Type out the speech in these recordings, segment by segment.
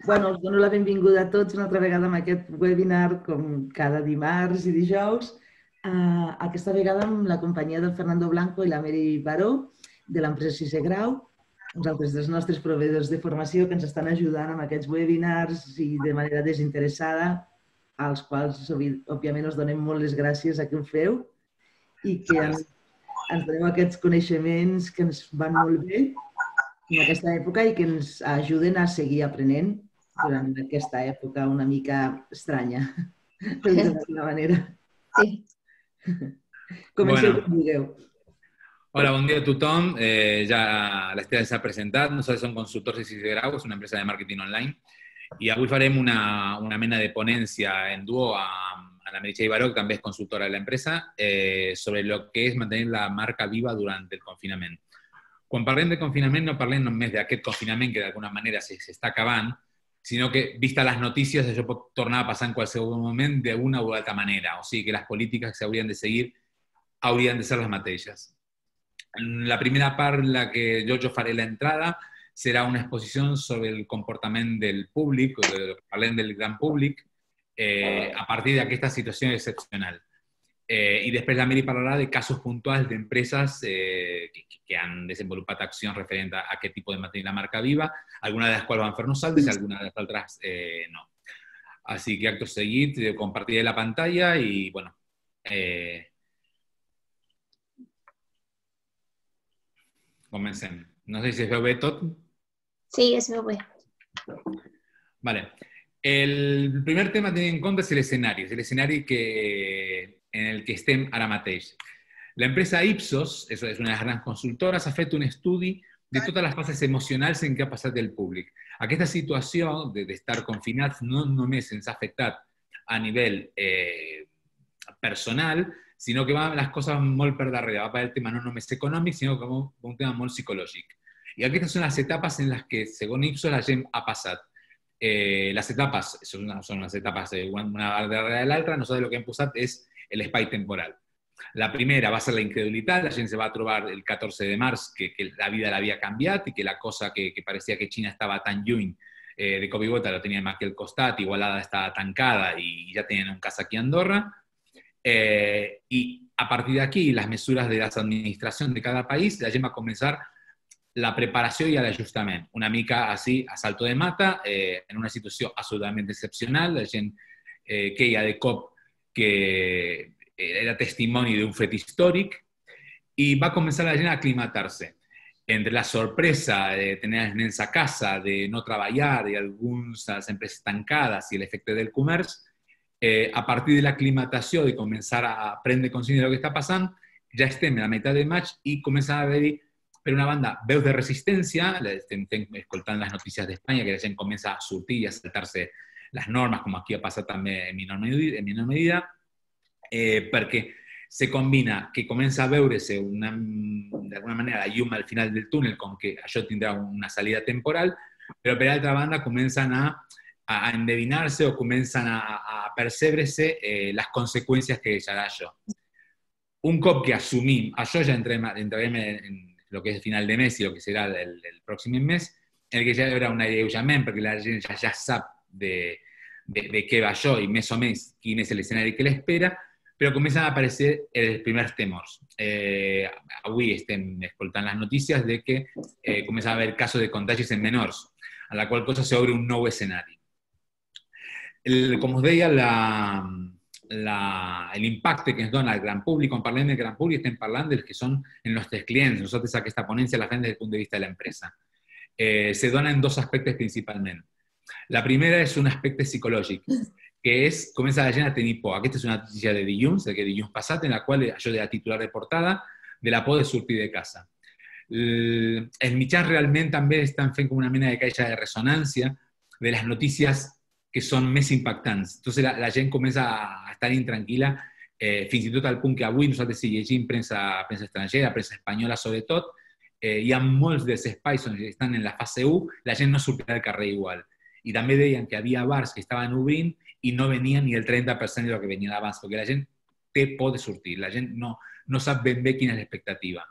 Bueno, us dono la benvinguda a tots una altra vegada amb aquest webinar, com cada dimarts i dijous. Aquesta vegada amb la companyia del Fernando Blanco i la Mary Baró, de l'empresa Sisè Grau, uns altres dels nostres proveïdors de formació que ens estan ajudant amb aquests webinars i de manera desinteressada, als quals, òbviament, us donem molt les gràcies a que ho feu i que ens doneu aquests coneixements que ens van molt bé en aquesta època i que ens ajuden a seguir aprenent durant aquesta època una mica estranya, per dir-ho d'alguna manera. Sí. Comenceu com vulgueu. Hola, bon dia a tothom. Ja l'Estela s'ha presentat. Nosaltres som consultors de Sisè Grau, és una empresa de màrqueting online. I avui farem una mena de ponència en duo a la Meritxell Baró, que també és consultora de l'empresa, sobre lo que és mantenir la marca viva durant el confinament. Quan parlem de confinament no parlem només d'aquest confinament que d'alguna manera s'està acabant, sinó que, vista les notícies, això pot tornar a passar en qualsevol moment d'una o altra manera. O sigui que les polítiques que s'haurien de seguir haurien de ser les mateixes. La primera part, la que jo faré l'entrada, serà una exposició sobre el comportament del públic, parlem del gran públic, a partir d'aquesta situació excepcional. I després la Miri parlarà de casos puntuals d'empreses que han desenvolupat accions referents a aquest tipus de mantenir la marca viva, algunes de les quals van fer nosaltres i algunes de les altres no. Així que acto seguit, compartiré la pantalla i, bueno, comencem. No sé si es veu bé tot. Sí, es veu bé. Vale. El primer tema a tenir en compte és l'escenari en el que estem ara mateix. L'empresa Ipsos, és una de les grans consultores, ha fet un estudi de totes les fases emocionals en què ha passat el públic. Aquesta situació d'estar confinats no només ens ha afectat a nivell personal, sinó que van les coses molt per darrere, va per el tema no només econòmic, sinó com un tema molt psicològic. I aquestes són les etapes en les que, segons Ipsos, la gent ha passat. Les etapes són les etapes una darrere de l'altra. Nosaltres el que hem posat és l'espai temporal. La primera va ser la incredulitat, la gent se va trobar el 14 de març que la vida l'havia canviat i que la cosa que parecia que Xina estava tan lluny de cop i volta la teníem aquí al costat, Igualada estava tancada i ja tenien un cas aquí a Andorra. I a partir d'aquí, les mesures de les administracions de cada país, la gent va començar la preparació i l'ajustament. Una mica així, a salto de mata, en una situació absolutament excepcional, la gent queia de cop que era testimoni d'un fet històric i va començar la gent a aclimatar-se. Entre la sorpresa de tenir els nens a casa, de no treballar i algunes empreses tancades i l'efecte del comerç, a partir de l'aclimatació, de començar a prendre consciència del que està passant, ja estem a la meitat de maig i comença a haver-hi, per una banda, veus de resistència, estem escoltant les notícies d'Espanya, que la gent comença a sortir i a saltar-se les normes, com aquí ha passat també en menor medida, perquè se combina que comença a veure-se d'alguna manera la llum al final del túnel, com que això tindrà una salida temporal, però per altra banda comencen a endevinar-se o comencen a percebre-se les conseqüències que deixarà això. Un cop que assumim, això ja entrarem en el que és el final de mes i el que serà el pròxim mes, en el que ja hi haurà un alleujament, perquè la gent ja sap de què va això i més o menys quin és l'escenari que l'espera, però comencen a aparèixer els primers temors. Avui estem escoltant les notícies de que comença a haver casos de contagis en menors, a la qual cosa s'obre un nou escenari. Com us deia, l'impacte que ens dona el gran públic, quan parlem del gran públic estem parlant dels que són els nostres clients. Nosaltres aquesta ponència la fem des del punt de vista de l'empresa. Se dona en dos aspectes principalment. La primera és un aspecte psicològic, que és, comença la gent a tenir por. Aquesta és una notícia de dilluns passat, en la qual això de la titular de portada, de la por de sortir de casa. Els mitjans realment també estan fent com una mena de caixa de ressonància de les notícies que són més impactants. Entonces la gent comença a estar intranquil·la, fins i tot al punt que avui nosaltres si llegim premsa estrangera, premsa espanyola sobretot, hi ha molts dels espais on estan en la fase 1, la gent no sortirà al carrer igual. I també deien que havia bars que estaven obrint i no venien ni el 30% del que venien abans, perquè la gent té por de sortir, la gent no sap ben bé quina és l'expectativa.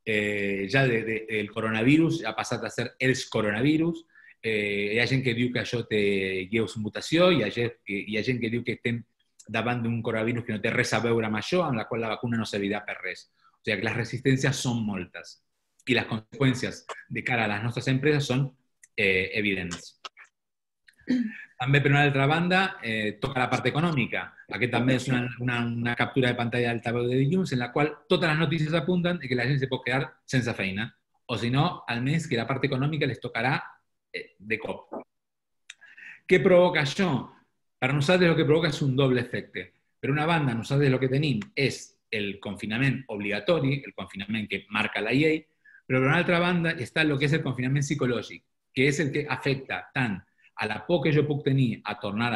Ja el coronavirus ha passat a ser els coronavirus, hi ha gent que diu que això té lleus mutació, hi ha gent que diu que estem davant d'un coronavirus que no té res a veure amb això, amb la qual la vacuna no servirà per res. O sigui que les resistències són moltes i les conseqüències de cara a les nostres empreses són evidents. També, per una altra banda, toca la part econòmica. Aquest també és una captura de pantalla d'altaveu de dilluns en la qual totes les notícies apunten que la gent se pot quedar sense feina. O si no, almenys que la part econòmica les tocarà de cop. Què provoca això? Per nosaltres el que provoca és un doble efecte. Per una banda, nosaltres el que tenim és el confinament obligatori, el confinament que marca la llei, però per una altra banda està el que és el confinament psicològic, que és el que afecta tant a la por que jo puc tenir a tornar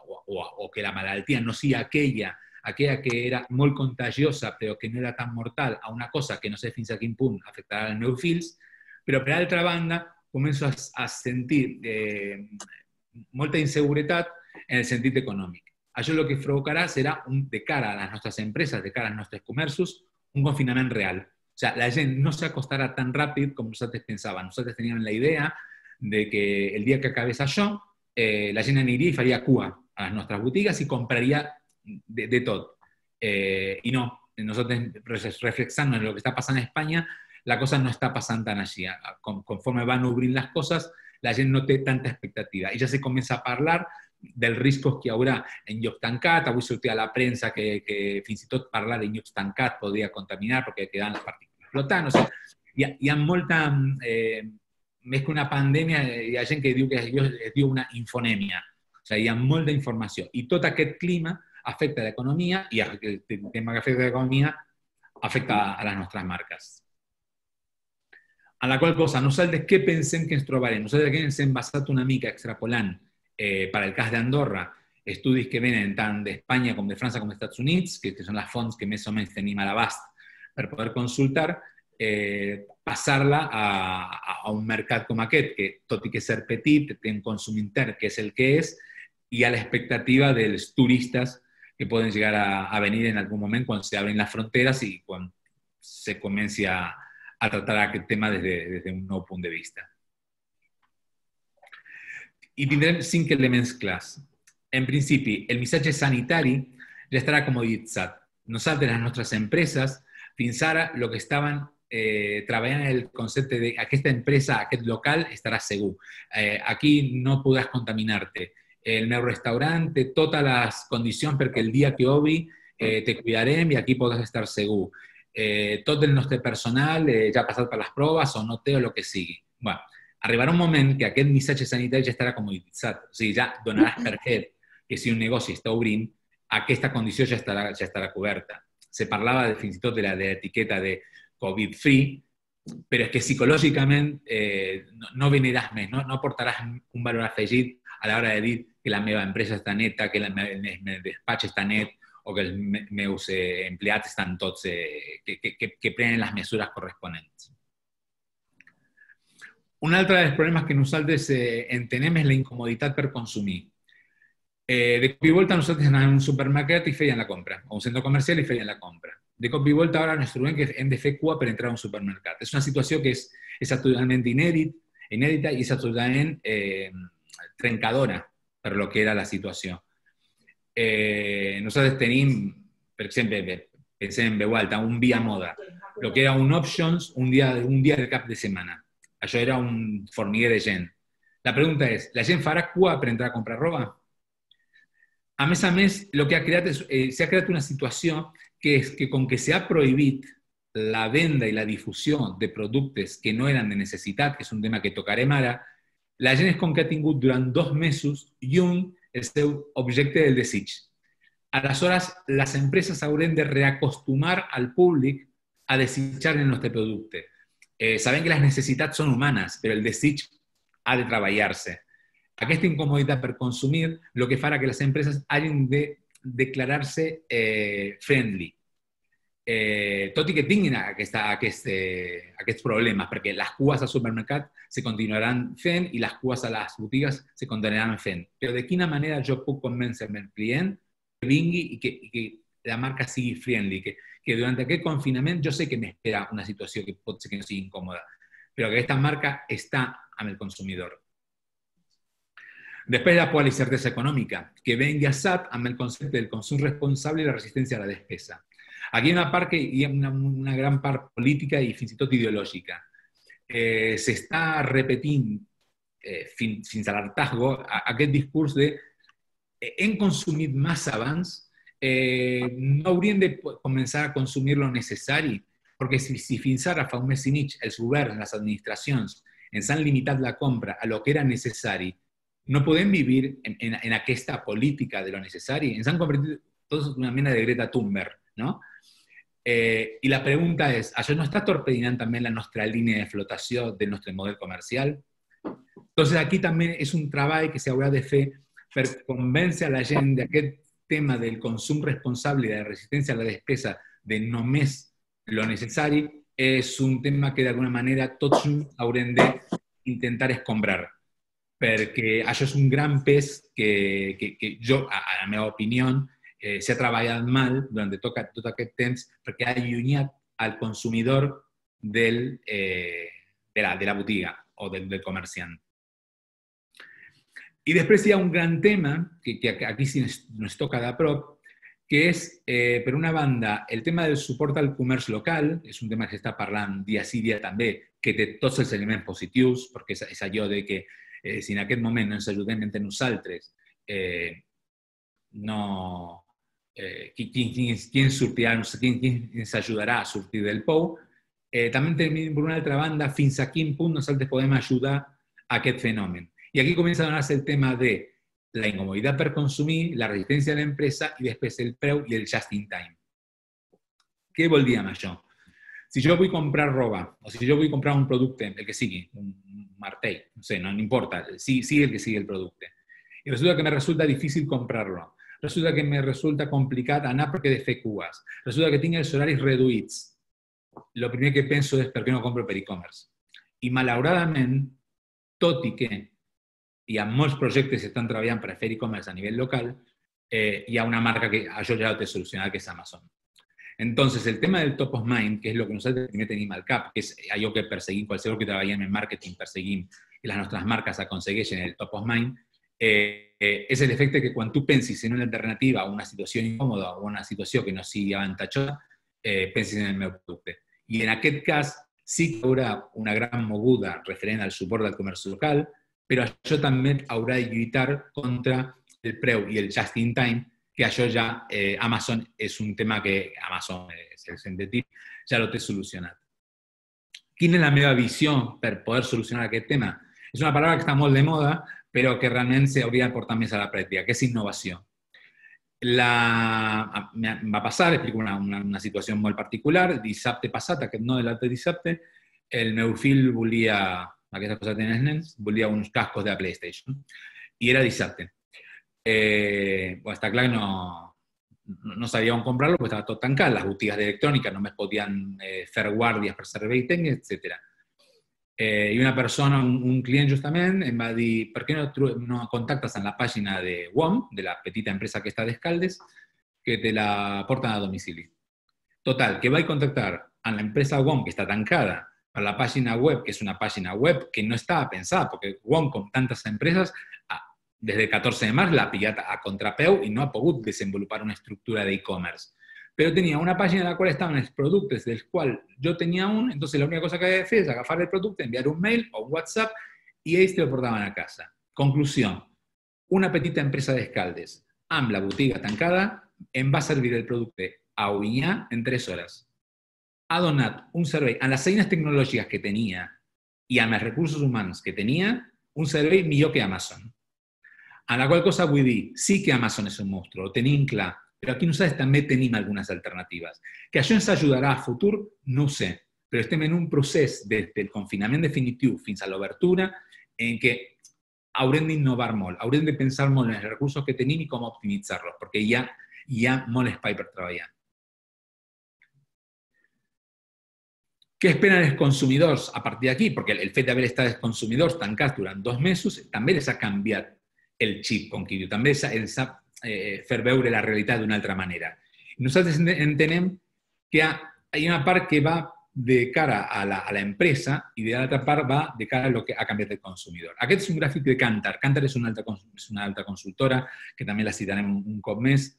o que la malaltia no sigui aquella que era molt contagiosa però que no era tan mortal, a una cosa que no sé fins a quin punt afectarà els meus fills, però per altra banda començo a sentir molta inseguretat en el sentit econòmic. Això el que provocarà serà, de cara a les nostres empreses, de cara als nostres comerços, un confinament real. O sigui, la gent no s'acostarà tan ràpid com nosaltres pensàvem. Nosaltres teníem la idea de que el dia que acabés això, la gent aniria i faria cua a les nostres botigues i compraria de tot. I no, nosaltres reflexant en el que està passant a Espanya, la cosa no està passant tan així. Conforme van obrint les coses, la gent no té tanta expectativa. I ja se comença a parlar dels riscos que hi haurà en llocs tancats. Avui sortia a la premsa que fins i tot parlar de llocs tancats podria contaminar perquè quedaven les partícules flotant. O sigui, hi ha molta... més que una pandèmia, hi ha gent que diu que es diu una infonèmia. O sigui, hi ha molta informació. I tot aquest clima afecta l'economia i el tema que afecta l'economia afecta a les nostres marques. En la qual cosa, nosaltres què pensem que ens trobarem? Nosaltres aquí ens hem basat una mica extrapolant per al cas d'Andorra estudis que venen tant d'Espanya com de França com dels Estats Units, que són les fonts que més o menys tenim a l'abast per poder consultar, passar-la a un mercat com aquest, que tot i que ser petit, té un consum intern que és el que és, i a l'expectativa dels turistes que poden llegar a venir en algun moment quan s'obrin les fronteres i quan se comenci a tratar aquest tema des d'un nou punt de vista. I tindrem 5 elements clars. En principi, el missatge sanitari ja estarà comoditzat. Nosaltres, les nostres empreses, fins ara, el que estaven treballant en el concepte de aquesta empresa, aquest local, estarà segur. Aquí no podràs contaminar-te. El meu restaurant té totes les condicions perquè el dia que obri te cuidarem i aquí podràs estar segur. Tot el nostre personal ja ha passat per les proves o no té o el que sigui. Bueno, arribarà un moment que aquest missatge sanitari ja estarà comoditzat. O sigui, ja donaràs per fet que si un negoci està obrint, aquesta condició ja estarà coberta. Se parlava fins i tot de l'etiqueta de Covid-free, però és que psicològicament no veniràs més, no aportaràs un valor afegit a l'hora de dir que la meva empresa està neta, que el meu despatx està net, o que els meus empleats estan tots, que prenen les mesures corresponents. Un altre dels problemes que nosaltres entenem és la incomoditat per consumir. De cop i volta nosaltres anàvem a un supermercat i feien la compra, o a un centre comercial i feien la compra. De cop i volta ara ens trobem que hem de fer cua per entrar a un supermercat. És una situació que és totalment inèdita i és totalment trencadora per lo que era la situació. Nosaltres tenim, per exemple, pensem en veu alta, un Via Moda, el que era un Options un dia del cap de setmana. Això era un formiguer de gent. La pregunta és, la gent farà cua per entrar a comprar roba? A més, el que s'ha creat una situació que és que com que s'ha prohibit la venda i la difusió de productes que no eren de necessitat, que és un tema que tocarem ara, la gent és com que ha tingut durant 2 mesos lluny el seu objecte del desig. Aleshores, les empreses haurem de reacostumar al públic a desitjar el nostre producte. Sabem que les necessitats són humanes, però el desig ha de treballar-se. Aquesta incomoditat per consumir el que farà que les empreses hagin de declarar-se friendly. Tot i que tinguin aquests problemes, perquè les cues al supermercat se continuaran fent i les cues a les botigues se continuaran fent. Però de quina manera jo puc convèncer el client que vingui i que la marca sigui friendly, que durant aquest confinament jo sé que m'espera una situació que pot ser que no sigui incòmoda, però que aquesta marca està amb el consumidor. Després la por a la incertesa econòmica, que ve enllaçat amb el concepte del consum responsable i la resistència a la despesa. Aquí hi ha una part que hi ha una gran part política i fins i tot ideològica. S'està repetint fins a l'hartazgo aquest discurs de hem consumit massa abans, no hauríem de començar a consumir lo necessari, perquè si fins ara fa un mes i mig els governs, les administracions, ens han limitat la compra a lo que era necessari, no podem vivir en aquesta política de lo necessari. Ens han convertit tots en una mena de Greta Thunberg, no? I la pregunta és, això no està torpedinant també la nostra línia de flotació del nostre model comercial? Entonces aquí també és un treball que s'haurà de fer per convèncer a la gent d'aquest tema del consum responsable i de la resistència a la despesa de només lo necessari, és un tema que d'alguna manera tots haurem d'intentar escombrar, perquè això és un gran pes que jo, a la meva opinió, s'ha treballat mal durant tot aquest temps perquè ha allunyat al consumidor de la botiga o del comerciant. I després hi ha un gran tema, que aquí sí ens toca de prop, que és, per una banda, el tema del suport al comerç local, és un tema que s'està parlant dia sí, dia també, que té tots els elements positius, perquè és allò de que si en aquest moment no ens ajudem entre nosaltres, qui ens ajudarà a sortir del pou? També tenim, per una altra banda, fins a quin punt nosaltres podem ajudar a aquest fenomen. I aquí comença a donar-se el tema de la incomoditat per consumir, la resistència de l'empresa i després el preu i el just in time. Què vol dir amb això? Si jo vull comprar roba, o si jo vull comprar un producte, el que sigui, un martell, no sé, no importa, sigui el que sigui el producte, i resulta que me resulta difícil comprarlo, resulta que me resulta complicat anar perquè he de fer cues, resulta que tinc els horaris reduïts, el primer que penso és per què no compro per e-commerce. I malauradament, tot i que hi ha molts projectes que estan treballant per fer e-commerce a nivell local, hi ha una marca que això ja ho té solucionat, que és Amazon. Entonces, el tema del top of mind, que és el que nosaltres primer tenim al cap, que és allò que perseguim, qualsevol que treballem en marketing, perseguim que les nostres marques aconsegueixen el top of mind, és l'efecte que quan tu pensis en una alternativa o una situació incòmoda o una situació que no sigui avantatjosa, pensis en el meu producte. I en aquest cas sí que hi haurà una gran moguda referent al suport del comerç local, però això també haurà de lluitar contra el preu i el just in time, que això ja Amazon és un tema que Amazon, el sentit, ja ho té solucionat. Quina és la meva visió per poder solucionar aquest tema? És una paraula que està molt de moda, però que realment s'hauria de portar més a la pràctica, que és innovació. Em va passar, explico una situació molt particular, dissabte passat, aquest no de l'altre dissabte, el meu fill volia, aquestes coses tenen els nens, volia uns cascos de la PlayStation. I era dissabte. Està clar que no sabia on comprar-lo, perquè estava tot tancat, les botigues d'electrònica només podien fer guàrdies per servei tècnic, etc. I una persona, un client justament, em va dir per què no contactes en la pàgina de WOM, de la petita empresa que està d'Escaldes, que te la porten a domicili. Total, que vaig contactar amb l'empresa WOM, que està tancada, per la pàgina web, que és una pàgina web que no estava pensada, perquè WOM, com tantes empreses, des del 14 de març l'ha pillat a contrapeu i no ha pogut desenvolupar una estructura d'e-commerce. Però tenia una pàgina en la qual estaven els productes dels quals jo tenia un, entonces la única cosa que havia de fer és agafar el producte, enviar un mail o un WhatsApp i ells te lo portaven a casa. Conclusió, una petita empresa d'Escaldes amb la botiga tancada em va servir el producte a Ovinyà en 3 hores. Ha donat un servei, amb les eines tecnològiques que tenia i amb els recursos humans que tenia, un servei millor que Amazon. En la qual cosa vull dir, sí que Amazon és un monstru, ho tenim clar, però aquí nosaltres també tenim algunes alternatives. Que això ens ajudarà a futur, no ho sé, però estem en un procés des del confinament definitiu fins a l'obertura en què haurem d'innovar molt, haurem de pensar molt en els recursos que tenim i com optimitzar-los, perquè hi ha molt espai per treballar. Què esperen els consumidors a partir d'aquí? Perquè el fet d'haver estat els consumidors tancats durant 2 mesos també els ha canviat el xip, com qui diu, també els ha fer veure la realitat d'una altra manera. Nosaltres entenem que hi ha una part que va de cara a la empresa i de l'altra part va de cara a lo que ha canviat el consumidor. Aquest és un gràfic de Kantar. Kantar és una alta consultora, que també la citarem un cop més.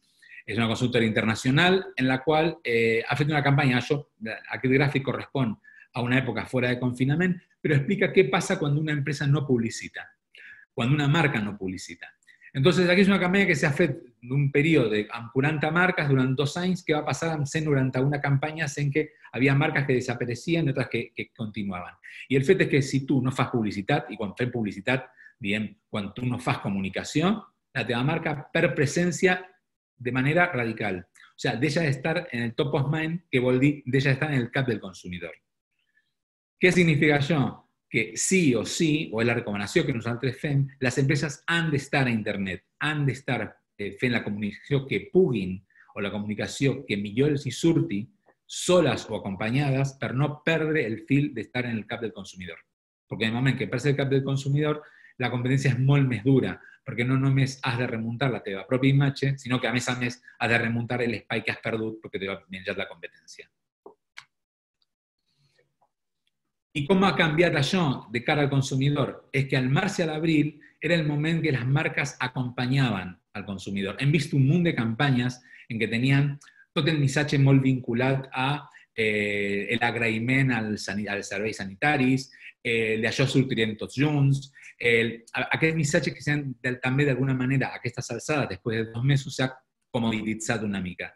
És una consultora internacional en la qual ha fet una campanya. Aquest gràfic correspon a una època fora de confinament, però explica què passa quan una empresa no publicita, quan una marca no publicita. Entonces, aquí és una campanya que s'ha fet d'un període amb 40 marques durant 2 anys, que va passar amb 191 campanyes en què havia marques que desapareixien i altres que continuaven. I el fet és que si tu no fas publicitat, i quan fem publicitat, diem, quan tu no fas comunicació, la teva marca perd presència de manera radical. O sea, deixa d'estar en el top of mind, que vol dir deixa d'estar en el cap del consumidor. Què significa això? Que sí o sí, o és la recomanació que nosaltres fem, les empreses han d'estar a internet, han d'estar fent la comunicació que puguin, o la comunicació que millor els hi surti, soles o acompanyades, per no perdre el fil d'estar en el cap del consumidor. Perquè en el moment que perds el cap del consumidor, la competència és molt més dura, perquè no només has de remuntar la teva pròpia imatge, sinó que a més has de remuntar l'espai que has perdut perquè t'ha menjat la competència. I com ha canviat això de cara al consumidor? És que al març i a l'abril era el moment que les marques acompanyaven al consumidor. Hem vist un munt de campanyes en què tenien tot el missatge molt vinculat a l'agraïment als serveis sanitaris, d'això sortirem tots junts, aquest missatge que també d'alguna manera a aquestes alçades, després de 2 mesos, s'ha comodititzat una mica.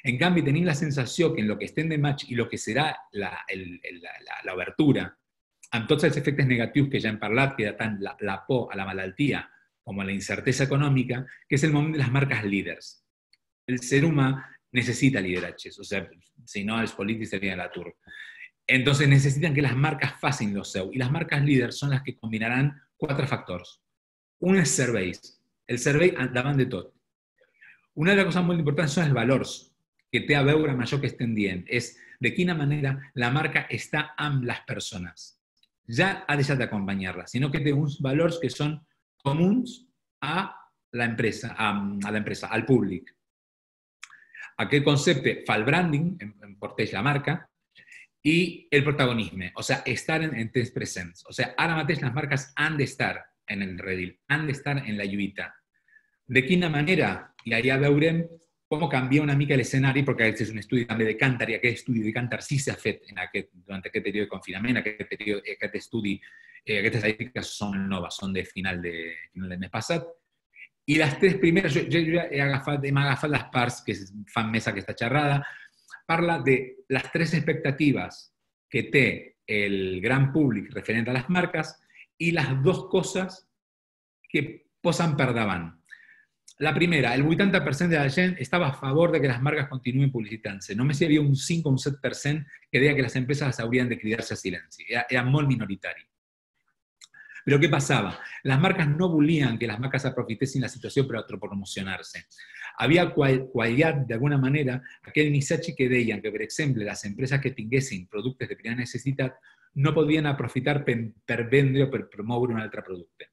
En canvi, tenim la sensació que en lo que estem de maig i lo que serà l'obertura, amb tots els efectes negatius que ja hem parlat, que tant la por a la malaltia com a la incertesa econòmica, que és el moment de les marques líders. El ser humà necesita lideratges, o sea, si no, els polítics serien a l'atur. Entonces necesitan que las marcas facin lo seu, i les marques líders són les que combinaran 4 factors. Un és serveis, el servei davant de tot. Una de les coses molt importants són els valors, que té a veure amb això que estem dient, és de quina manera la marca està amb les persones. Ja ha deixat d'acompanyar-la, sinó que té uns valors que són comuns a l'empresa, al públic. Aquest concepte fa el branding, enforteix la marca, i el protagonisme, o sea, estar en temps presents. O sea, ara mateix les marques han d'estar en el redil, han d'estar en la lluita. De quina manera? I allà veurem com canvia una mica l'escenari, perquè aquest és un estudi també de Kantar, i aquest estudi de Kantar sí s'ha fet durant aquest període de confinament, aquest estudi, aquestes estadístiques són noves, són de final del mes passat, i les 3 primeres, jo ja hem agafat les parts que fan més aquesta xerrada, parla de les 3 expectatives que té el gran públic referent a les marques i les 2 coses que posen per davant. La primera, el 80% de la gent estava a favor de que les marques continuïn publicitant-se. Només hi havia un 5 o un 7% que deia que les empreses haurien de cridar-se a silenci. Era molt minoritari. Però què passava? Les marques no volien que les marques aprofitessin la situació per autopromocionar-se. Havia quallat d'alguna manera aquell missatge que deien que, per exemple, les empreses que tinguessin productes de primera necessitat no podien aprofitar per vendre o per promoure un altre producte.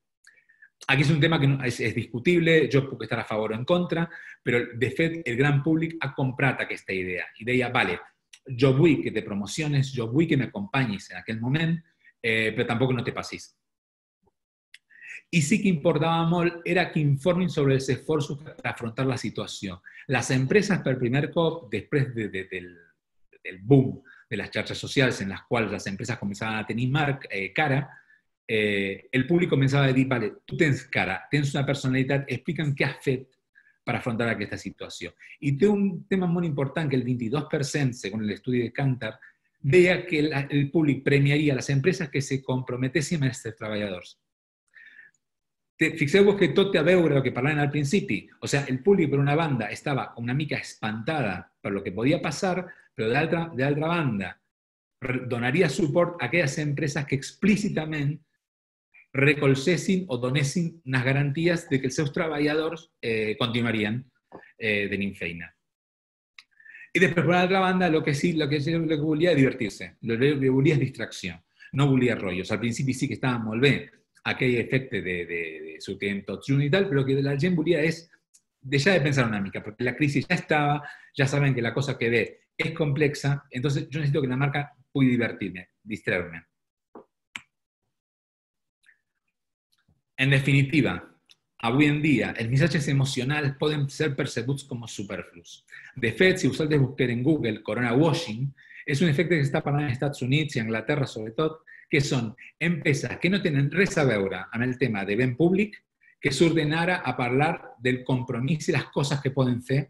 Aquí és un tema que és discutible, jo puc estar a favor o en contra, però de fet el gran públic ha comprat aquesta idea i deia, vale, jo vull que te promociones, jo vull que m'acompanyis en aquell moment, però tampoc no te passis. I sí que importava molt era que informin sobre els esforços per afrontar la situació. Les empreses, per primer cop, després del boom de les xarxes socials en les quals les empreses començaven a tenir cara, el públic començava a dir, vale, tu tens cara, tens una personalitat, explica'm què has fet per afrontar aquesta situació. I té un tema molt important que el 22%, segons l'estudi de Kantar, deia que el públic premiaria a les empreses que se comprometessin amb els treballadors. Fixeu-vos que tot té a veure amb el que parlàvem al principi. O sigui, el públic, per una banda, estava una mica espantada per lo que podia passar, però d'altra banda, donaria suport a aquelles empreses que explícitament recolzessin o donessin unes garanties de que els seus treballadors continuarien tenint feina. I després, per l'altra banda, el que volia és divertir-se, el que volia és distracció, no volia rotllos. Al principi sí que estava molt bé aquell efecte de sortir tots junts i tal, però el que la gent volia és deixar de pensar una mica, perquè la crisi ja estava, ja saben que la cosa que ve es complexa, entonces yo necesito que la marca pugui distraer-me. En definitiva, avui en dia, els missatges emocionals poden ser percebuts com a superflus. De fet, si vosaltres busqueu en Google corona washing, és un efecte que està parlant als Estats Units i a Anglaterra, sobretot, que són empreses que no tenen res a veure amb el tema de ben públic, que surten ara a parlar del compromís i les coses que poden fer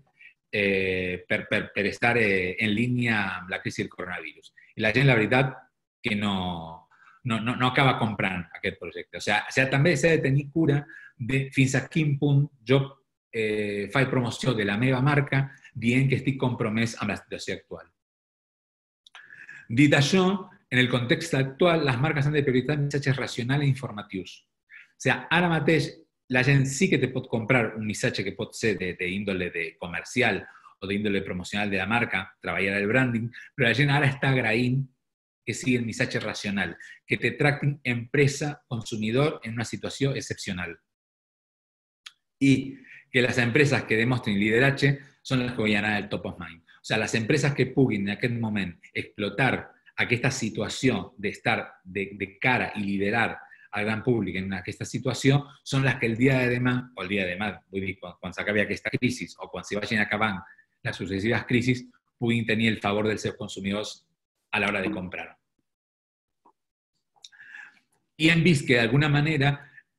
per estar en línia amb la crisi del coronavirus. I la gent, la veritat, que no acaba comprant aquest projecte. O sigui, també s'ha de tenir cura de fins a quin punt jo faig promoció de la meva marca dient que estic compromès amb la situació actual. Dit això, en el context actual, les marques han de prioritzar missatges racionals i informatius. O sigui, ara mateix la gent sí que te pot comprar un missatge que pot ser d'índole comercial o d'índole promocional de la marca, treballar el branding, però la gent ara està agraint que sigui el missatge racional, que te tractin empresa-consumidor en una situació excepcional. I que les empreses que demostren lideratge són les que guanyaran el top of mind. O sigui, les empreses que puguin en aquest moment explotar aquesta situació d'estar de cara i liderar al gran públic en aquesta situació són les que el dia de demà, o el dia de demà, vull dir, quan s'acabi aquesta crisi o quan s'hi vagin acabant les successives crisis, puguin tenir el favor dels seus consumidors a l'hora de comprar. I hem vist que d'alguna manera,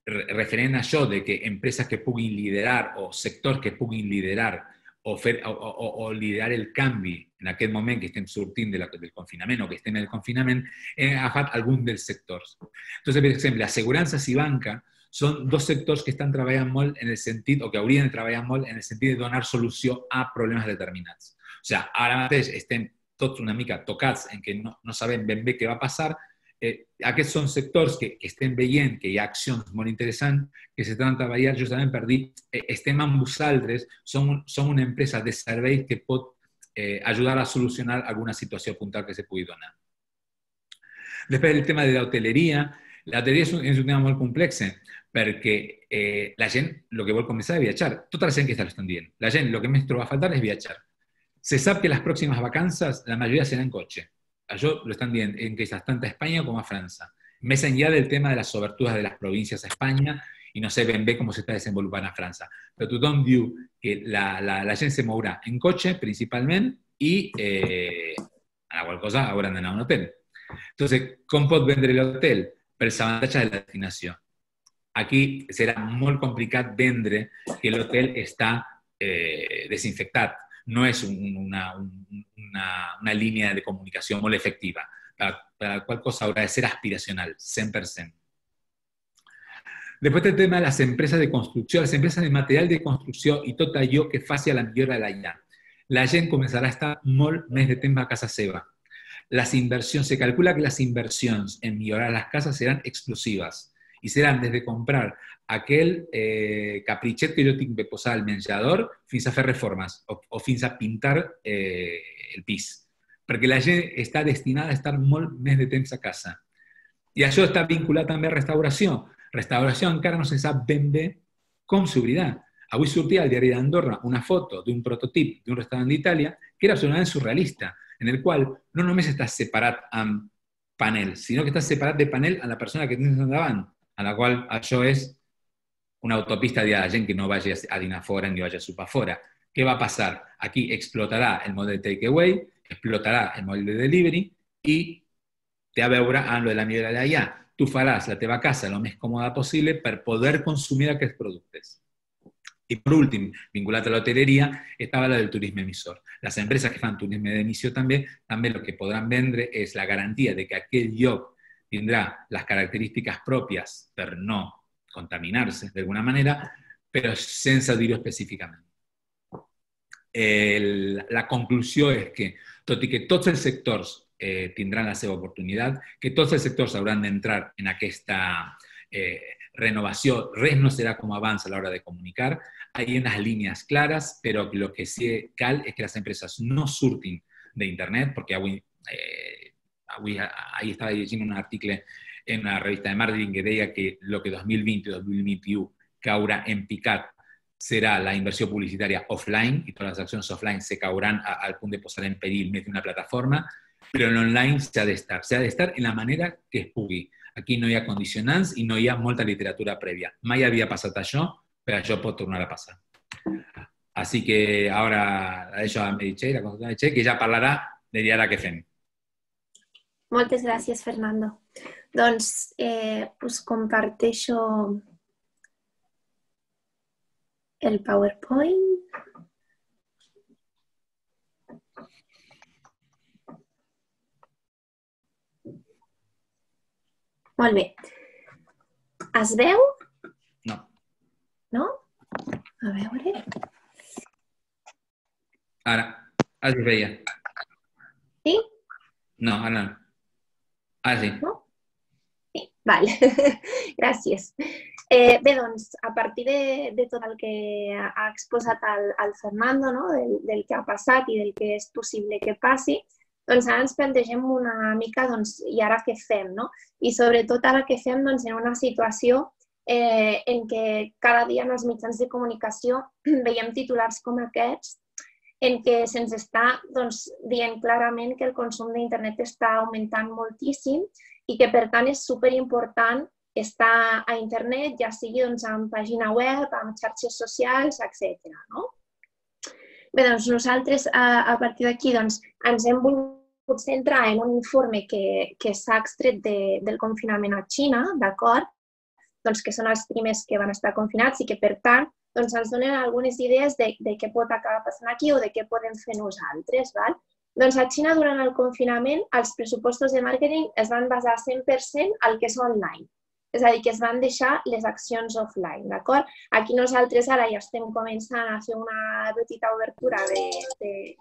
referent a això de que empreses que puguin liderar o sectors que puguin liderar o liderar el canvi en aquest moment que estem sortint del confinament o que estem en el confinament, hem agafat algun dels sectors. Entonces, per exemple, assegurances i banca són dos sectors que estan treballant molt en el sentit, o que haurien de treballar molt en el sentit de donar solució a problemes determinats. O sigui, ara mateix estem tots una mica tocats en què no sabem ben bé què va passar. Aquests són sectors que estem veient que hi ha accions molt interessants que s'estan treballant justament per dir estem amb vosaltres, som una empresa de serveis que pot ajudar a solucionar alguna situació puntual que se pugui donar. Després el tema de l'hoteleria. L'hoteleria és un tema molt complex perquè la gent el que vol començar és viatjar. Tota la gent que l'estan dient. La gent el que més troba a faltar és viatjar. Se sap que les pròximes vacances la majoria seran en cotxe. Això lo están dient en queixes tant a Espanya com a França. Més enllà del tema de les obertures de les províncies a Espanya, i no sé ben bé com s'està desenvolupant a França. Però tothom diu que la gent se mourà en cotxe, principalment, i a la qual cosa hauran d'anar a un hotel. Entonces, com pot vendre l'hotel? Pels avantatges de la destinació. Aquí serà molt complicat vendre que l'hotel està desinfectat. No és una línia de comunicació molt efectiva, per la qual cosa haurà de ser aspiracional, 100%. Després el tema de les empreses de construcció, les empreses de material de construcció i tot allò que faci a la millora de la llar. La gent començarà a estar molt més de temps a casa seva. Les inversions, se calcula que les inversions en millorar les cases seran explosives i seran des de comprar aquell capritxet que jo tinc de posar al menjador fins a fer reformes o fins a pintar el pis. Perquè la gent està destinada a estar molt més de temps a casa. I això està vinculat també a restauració. Restauració encara no se sap ben bé com s'obrirà. Avui sortia al diari d'Andorra una foto d'un prototip d'un restaurant d'Itàlia que era absolutament surrealista, en el qual no només està separat amb panel, sinó que està separat de panel a la persona que tens endavant, a la qual això és una autopista de la gent que no vagi a dinar fora ni vagi a sopar fora. Què va passar? Aquí explotarà el model de takeaway, explotarà el model de delivery i té a veure amb lo de la millora d'allà. Tu faràs la teva casa el més còmoda possible per poder consumir aquests productes. I per últim, vinculat a l'hoteleria, estava la del turisme emissor. Les empreses que fan turisme d'emissió també el que podran vendre és la garantia de que aquell lloc tindrà les característiques pròpies per no contaminar-se d'alguna manera, però sense dir-ho específicament. La conclusió és que, tot i que tots els sectors tindran la seva oportunitat, que tots els sectors hauran d'entrar en aquesta renovació, res no serà com abans a l'hora de comunicar, hi ha unes línies clares, però el que sí cal és que les empreses no surtin d'internet, perquè avui estava llegint un article en una revista de marketing que deia que el que 2020 i 2021 caurà en picat serà la inversió publicitària offline i totes les accions offline se cauran al punt de posar en perill més d'una plataforma. però en l'online s'ha d'estar en la manera que es pugui. Aquí no hi ha condicionants i no hi ha molta literatura prèvia. Mai havia passat això, però això pot tornar a passar. Así que ahora la deixo a Meritxell, la consultora Meritxell, que ja parlarà de ara què fem. Moltes gràcies, Fernando. Doncs us comparteixo el PowerPoint. Molt bé. Es veu? No. No? A veure... Ara es veia. Sí? No, ara no. Ara sí. No? Sí, vale. Gràcies. Bé, doncs, a partir de tot el que ha exposat el Fernando, no? del que ha passat i del que és possible que passi, doncs ara ens plantegem una mica, doncs, i ara què fem, no? I sobretot ara què fem, doncs, en una situació en què cada dia en els mitjans de comunicació veiem titulars com aquests, en què se'ns està dient clarament que el consum d'internet està augmentant moltíssim i que, per tant, és superimportant estar a internet, ja sigui en pàgina web, en xarxes socials, etc. Bé, doncs nosaltres, a partir d'aquí, ens hem volgut centrar en un informe que s'ha extret del confinament a Xina, d'acord? Doncs que són els primers que van estar confinats i que, per tant, ens donen algunes idees de què pot acabar passant aquí o de què podem fer nosaltres. Doncs a Xina, durant el confinament, els pressupostos de màrqueting es van basar 100% al que és online. És a dir, que es van deixar les accions offline, d'acord? Aquí nosaltres ara ja estem començant a fer una petita obertura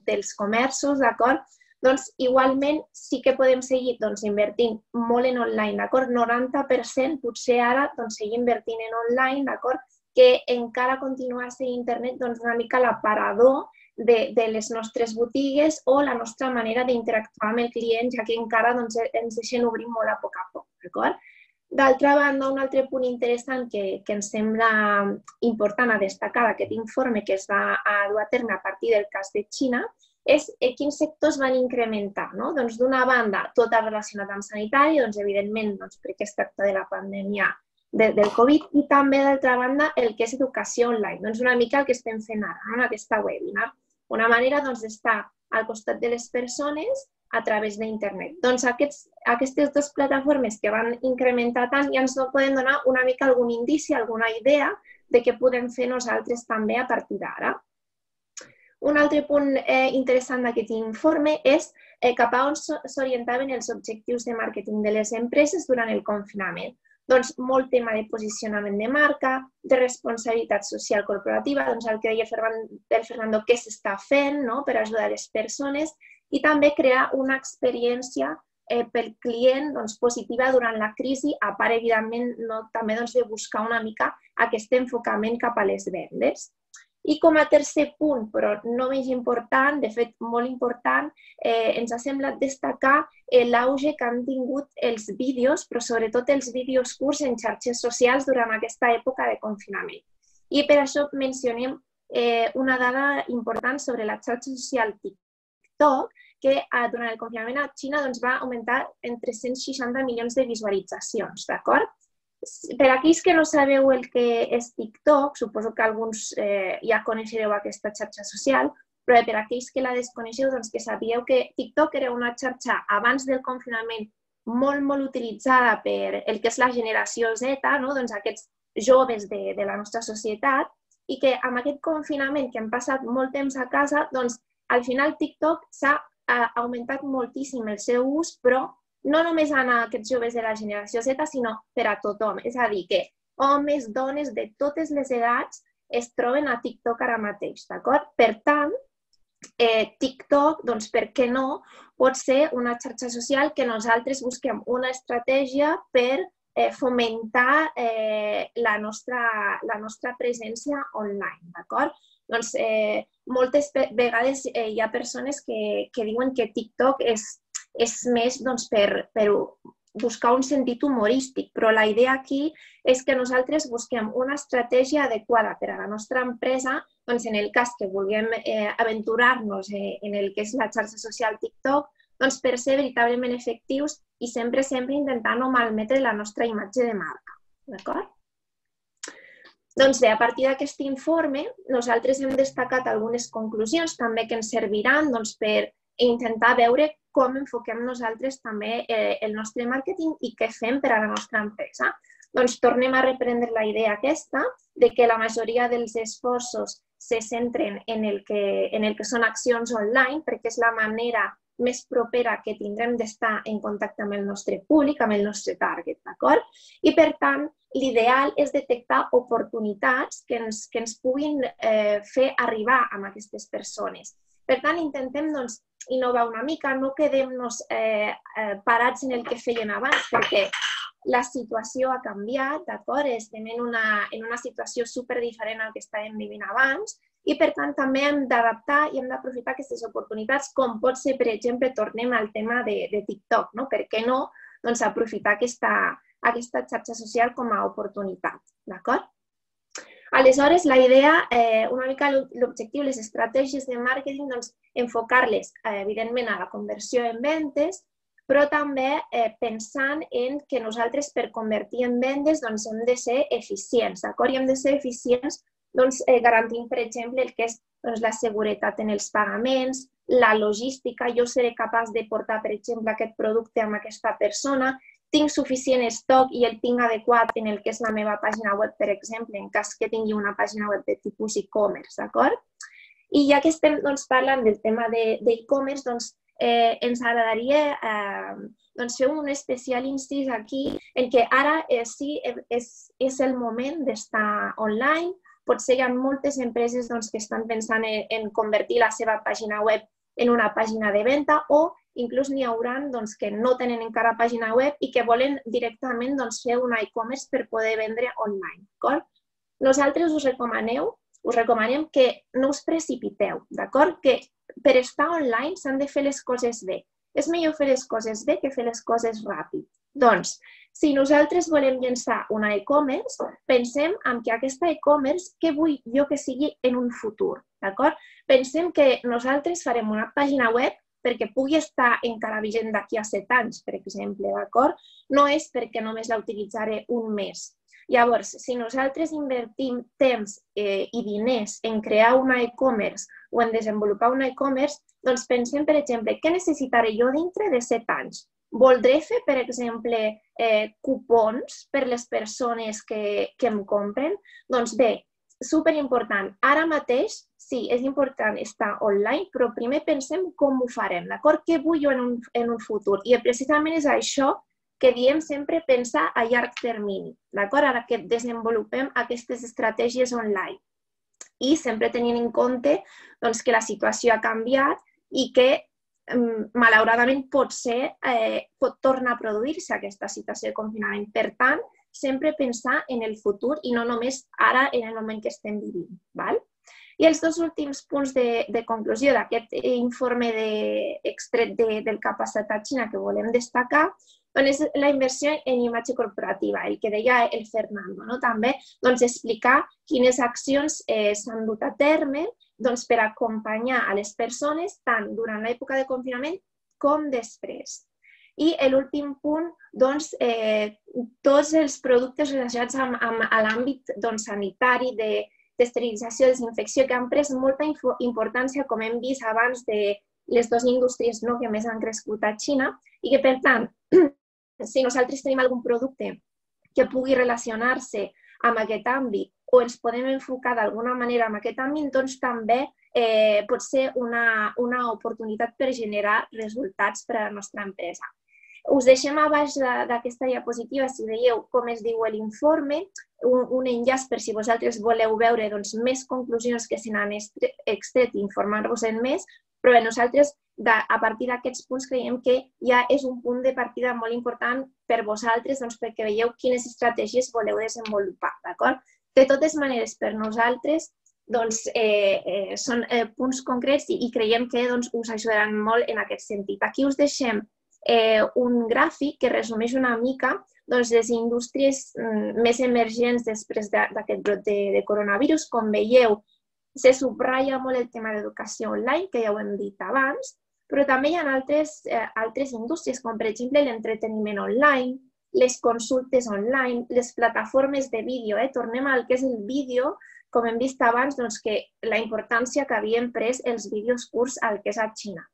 dels comerços, d'acord? Doncs igualment sí que podem seguir invertint molt en online, d'acord? 90% potser ara seguir invertint en online, d'acord? Que encara continua sent internet una mica l'aparador de les nostres botigues o la nostra manera d'interactuar amb el client, ja que encara ens deixen obrir molt a poc, d'acord? D'altra banda, un altre punt interessant que ens sembla important a destacar d'aquest informe que es va dur a terme a partir del cas de Xina és quins sectors van incrementar. Doncs d'una banda, tot el relacionat amb sanitari, evidentment perquè es tracta de la pandèmia del Covid, i també, d'altra banda, el que és educació online. Doncs una mica el que estem fent ara, en aquesta webinar. Una manera d'estar al costat de les persones a través d'internet. Doncs aquestes dues plataformes que van incrementar tant ja ens poden donar una mica algun indici, alguna idea de què podem fer nosaltres també a partir d'ara. Un altre punt interessant d'aquest informe és cap a on s'orientaven els objectius de màrqueting de les empreses durant el confinament. Doncs molt tema de posicionament de marca, de responsabilitat social corporativa, el que deia el Fernando, què s'està fent per ajudar les persones, i també crear una experiència pel client positiva durant la crisi, a part, evidentment, també de buscar una mica aquest enfocament cap a les vendes. I com a tercer punt, però no menys important, de fet molt important, ens ha semblat destacar l'auge que han tingut els vídeos, però sobretot els vídeos curts en xarxes socials durant aquesta època de confinament. I per això mencionem una dada important sobre la xarxa social TikTok, que durant el confinament a Xina va augmentar en 360 milions de visualitzacions, d'acord? Per aquells que no sabeu el que és TikTok, suposo que alguns ja coneixereu aquesta xarxa social, però per aquells que la desconeixeu, que sabíeu que TikTok era una xarxa abans del confinament molt utilitzada per el que és la generació Z, aquests joves de la nostra societat, i que amb aquest confinament que han passat molt temps a casa, al final TikTok s'ha augmentat moltíssim el seu ús, però no només a aquests joves de la generació Z, sinó per a tothom. És a dir, que homes, dones de totes les edats es troben a TikTok ara mateix, d'acord? Per tant, TikTok, per què no, pot ser una xarxa social que nosaltres busquem una estratègia per fomentar la nostra presència online, d'acord? Doncs moltes vegades hi ha persones que diuen que TikTok és més per buscar un sentit humorístic, però la idea aquí és que nosaltres busquem una estratègia adequada per a la nostra empresa, en el cas que vulguem aventurar-nos en el que és la xarxa social TikTok, doncs, per ser veritablement efectius i sempre intentar no malmetre la nostra imatge de marca. D'acord? Doncs bé, a partir d'aquest informe, nosaltres hem destacat algunes conclusions també que ens serviran per intentar veure com enfoquem nosaltres també el nostre màrqueting i què fem per a la nostra empresa. Doncs tornem a reprendre la idea aquesta de que la majoria dels esforços se centren en el que són accions online, perquè és la manera més propera que tindrem d'estar en contacte amb el nostre públic, amb el nostre target, d'acord? I, per tant, l'ideal és detectar oportunitats que ens puguin fer arribar a aquestes persones. Per tant, intentem innovar una mica, no quedem-nos parats en el que feien abans, perquè la situació ha canviat, d'acord? Estem en una situació superdiferent al que estàvem vivint abans i, per tant, també hem d'adaptar i hem d'aprofitar aquestes oportunitats, com pot ser, per exemple, tornem al tema de TikTok, no? Per què no aprofitar aquesta xarxa social com a oportunitat, d'acord? Aleshores, la idea, una mica l'objectiu, les estratègies de màrqueting, enfocar-les, evidentment, a la conversió en vendes, però també pensant en que nosaltres, per convertir en vendes, hem de ser eficients, d'acord? I hem de ser eficients garantint, per exemple, el que és la seguretat en els pagaments, la logística, jo seré capaç de portar, per exemple, aquest producte amb aquesta persona, tinc suficient estoc i el tinc adequat en el que és la meva pàgina web, per exemple, en cas que tingui una pàgina web de tipus e-commerce, d'acord? I ja que estem parlant del tema d'e-commerce, ens agradaria fer un especial incís aquí en què ara sí és el moment d'estar online. Potser hi ha moltes empreses que estan pensant en convertir la seva pàgina web en una pàgina de venda o inclús n'hi haurà que no tenen encara pàgina web i que volen directament fer un e-commerce per poder vendre online. Nosaltres us recomanem que no us precipiteu, d'acord? Que per estar online s'han de fer les coses bé. És millor fer les coses bé que fer les coses ràpid. Doncs, si nosaltres volem llançar una e-commerce, pensem en que aquesta e-commerce, què vull jo que sigui en un futur, d'acord? Pensem que nosaltres farem una pàgina web perquè pugui estar encara vigent d'aquí a 7 anys, per exemple, d'acord? No és perquè només la utilitzaré un mes. Llavors, si nosaltres invertim temps i diners en crear una e-commerce o en desenvolupar una e-commerce, doncs pensem, per exemple, què necessitaré jo dintre de 7 anys? Voldré fer, per exemple, cupons per les persones que em compren? Doncs bé, superimportant. Ara mateix, sí, és important estar online, però primer pensem com ho farem, d'acord? Què vull jo en un futur? I precisament és això que diem sempre pensar a llarg termini, d'acord? Ara que desenvolupem aquestes estratègies online. I sempre tenint en compte que la situació ha canviat i que malauradament pot tornar a produir-se aquesta situació de confinament. Per tant, sempre pensar en el futur i no només ara en el moment que estem vivint. I els 2 últims punts de conclusió d'aquest informe extret del que ha passat a Xina que volem destacar és la inversió en imatge corporativa, el que deia el Fernando. També explicar quines accions s'han dut a terme per acompanyar a les persones tant durant l'època de confinament com després. I l'últim punt, tots els productes relacionats amb l'àmbit sanitari, d'esterilització, desinfecció, que han pres molta importància, com hem vist abans, de les 2 indústries que més han crescut a Xina i que, per tant, si nosaltres tenim algun producte que pugui relacionar-se amb aquest àmbit o ens podem enfocar d'alguna manera en aquest àmbit, doncs també pot ser una oportunitat per generar resultats per a la nostra empresa. Us deixem a baix d'aquesta diapositiva, si veieu com es diu l'informe, un enllaç per si vosaltres voleu veure més conclusions que se n'han extret i informar-vos-en més, però bé, nosaltres a partir d'aquests punts creiem que ja és un punt de partida molt important per vosaltres perquè veieu quines estratègies voleu desenvolupar, d'acord? De totes maneres, per nosaltres són punts concrets i creiem que us ajudaran molt en aquest sentit. Aquí us deixem un gràfic que resumeix una mica les indústries més emergents després d'aquest brot de coronavirus. Com veieu, se subratlla molt el tema d'educació online, que ja ho hem dit abans. però també hi ha altres indústries, com per exemple l'entreteniment online, les consultes online, les plataformes de vídeo. Tornem al que és el vídeo, com hem vist abans, que la importància que havien pres els vídeos curts al que és a Xina.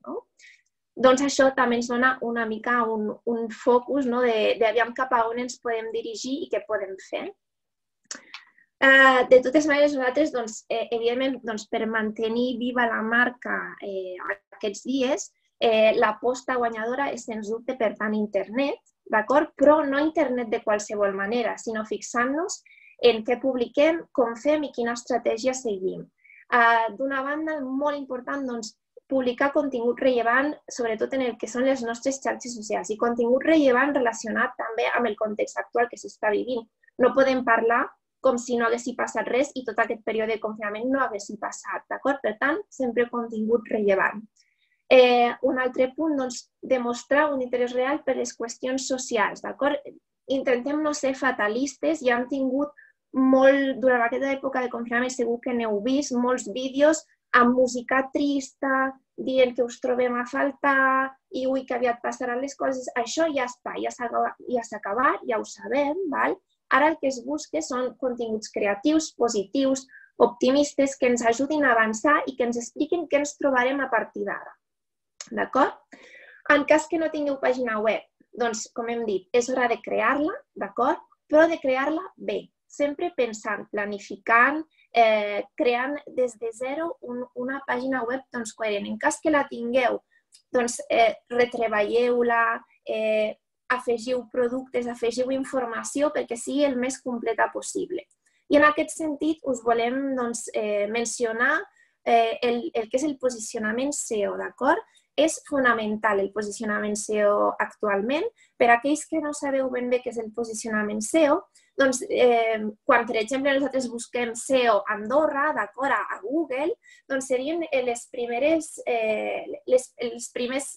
Doncs això també ens dona una mica un focus d'aviam cap a on ens podem dirigir i què podem fer. De totes maneres, nosaltres, evidentment, per mantenir viva la marca aquests dies, l'aposta guanyadora és, sens dubte, per tant, internet, d'acord? Però no internet de qualsevol manera, sinó fixant-nos en què publiquem, com fem i quina estratègia seguim. D'una banda, molt important, publicar contingut rellevant, sobretot en el que són les nostres xarxes socials, i contingut rellevant relacionat també amb el context actual que s'està vivint. No podem parlar com si no haguessi passat res i tot aquest període de confinament no haguessi passat, d'acord? Per tant, sempre contingut rellevant. Un altre punt, demostrar un interès real per les qüestions socials, d'acord? Intentem no ser fatalistes, ja hem tingut durant aquesta època de confinament, segur que n'heu vist, molts vídeos amb música trista, dient que us trobem a faltar i ui, que aviat passaran les coses. Això ja està, ja s'ha acabat, ja ho sabem, val? Ara el que es busca són continguts creatius, positius, optimistes, que ens ajudin a avançar i que ens expliquin què ens trobarem a partir d'ara. D'acord? En cas que no tingueu pàgina web, doncs, com hem dit, és hora de crear-la, d'acord? Però de crear-la bé, sempre pensant, planificant, creant des de zero una pàgina web coherent. En cas que la tingueu, retreballeu-la, afegiu productes, afegiu informació perquè sigui el més completa possible. I en aquest sentit us volem mencionar el que és el posicionament SEO, d'acord? És fonamental el posicionament SEO actualment. Per a aquells que no sabeu ben bé què és el posicionament SEO, doncs quan, per exemple, nosaltres busquem SEO Andorra, d'acord, a Google, doncs serien els primers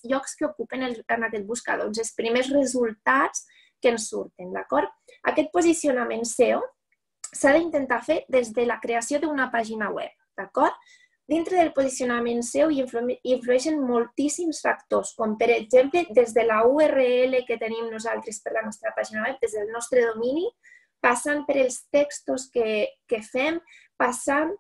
llocs que ocupen en aquest buscador, els primers resultats que ens surten, d'acord? Aquest posicionament SEO s'ha d'intentar fer des de la creació d'una pàgina web, d'acord? Dintre del posicionament SEO hi influeixen moltíssims factors, com per exemple des de la URL que tenim nosaltres per la nostra pàgina web, des del nostre domini, passant per els textos que fem, passant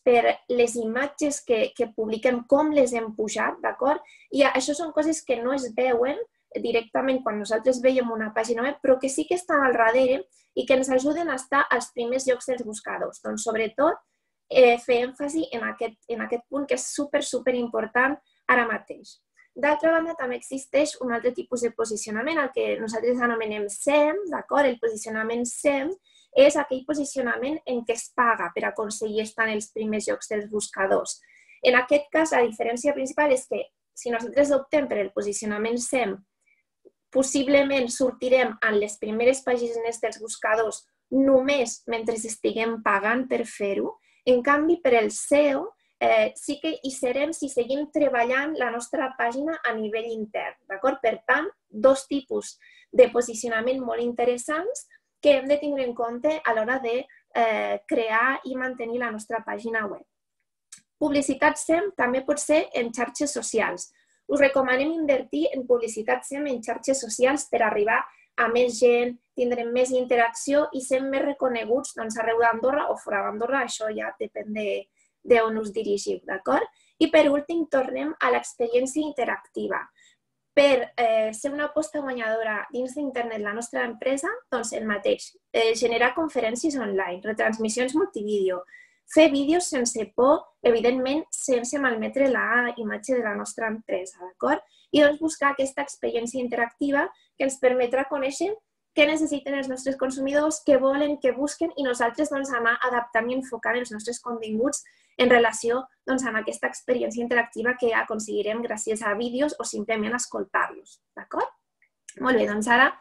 per les imatges que publiquem, com les hem pujat, d'acord? I això són coses que no es veuen directament quan nosaltres veiem una pàgina web, però que sí que estan al darrere i que ens ajuden a estar als primers llocs dels buscadors. Doncs, sobretot, fer èmfasi en aquest punt que és super important ara mateix. D'altra banda, també existeix un altre tipus de posicionament, el que nosaltres anomenem SEM, d'acord? El posicionament SEM és aquell posicionament en què es paga per aconseguir estar en els primers llocs dels buscadors. En aquest cas, la diferència principal és que si nosaltres optem per el posicionament SEM, possiblement sortirem en les primeres pàgines dels buscadors només mentre estiguem pagant per fer-ho. En canvi, per el SEO, sí que hi serem si seguim treballant la nostra pàgina a nivell intern, d'acord? Per tant, dos tipus de posicionament molt interessants que hem de tindre en compte a l'hora de crear i mantenir la nostra pàgina web. Publicitat SEM també pot ser en xarxes socials. Us recomanem invertir en publicitat SEM en xarxes socials per arribar a més gent, tindrem més interacció i ser més reconeguts arreu d'Andorra o fora d'Andorra, això ja depèn d'on us dirigiu, d'acord? I per últim, tornem a l'experiència interactiva. Per ser una aposta guanyadora dins d'internet la nostra empresa, doncs el mateix, generar conferències online, retransmissions multivídeo, fer vídeos sense por, evidentment sense malmetre la imatge de la nostra empresa, d'acord? I doncs buscar aquesta experiència interactiva que ens permetrà conèixer què necessiten els nostres consumidors, què volen, què busquen i nosaltres anar adaptant i enfocant els nostres continguts en relació amb aquesta experiència interactiva que aconseguirem gràcies a vídeos o simplement escoltar-los, d'acord? Molt bé, doncs ara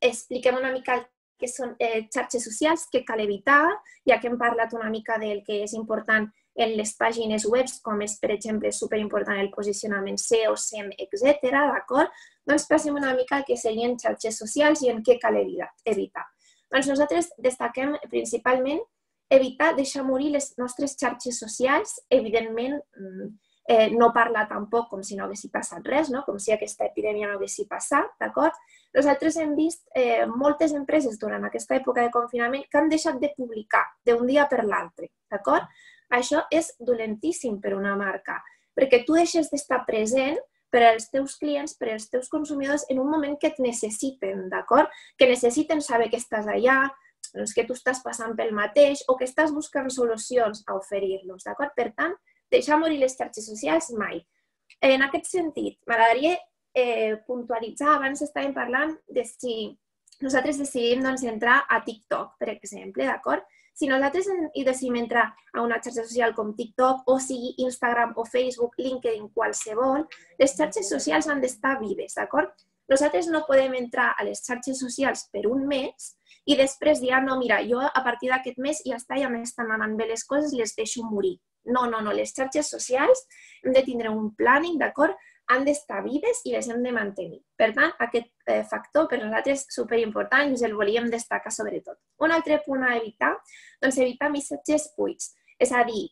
expliquem una mica què són xarxes socials, què cal evitar, ja que hem parlat una mica del que és important en les pàgines web, com és, per exemple, superimportant el posicionament SEO, SEM, etc. D'acord? Doncs passem una mica al que serien xarxes socials i en què cal evitar. Doncs nosaltres destaquem principalment evitar deixar morir les nostres xarxes socials, evidentment no parlar tampoc com si no haguessi passat res, no? Com si aquesta epidèmia no haguessi passat, d'acord? Nosaltres hem vist moltes empreses durant aquesta època de confinament que han deixat de publicar d'un dia per l'altre, d'acord? Això és dolentíssim per una marca, perquè tu deixes d'estar present per als teus clients, per als teus consumidors en un moment que et necessiten, d'acord? Que necessiten saber que estàs allà, que tu estàs passant pel mateix o que estàs buscant solucions a oferir-los, d'acord? Per tant, deixar morir les xarxes socials mai. En aquest sentit, m'agradaria puntualitzar, abans estàvem parlant de si nosaltres decidim entrar a TikTok, per exemple, d'acord? Si nosaltres decidim entrar a una xarxa social com TikTok, o sigui Instagram o Facebook, LinkedIn, qualsevol, les xarxes socials han d'estar vives, d'acord? Nosaltres no podem entrar a les xarxes socials per un mes i després dir, no, mira, jo a partir d'aquest mes ja m'estan anant bé les coses, les deixo morir. No, les xarxes socials hem de tindre un planning, d'acord? Han d'estar vives i les hem de mantenir. Per tant, aquest factor per nosaltres és superimportant i us el volíem destacar sobretot. Un altre punt a evitar, evitar missatges buits. És a dir,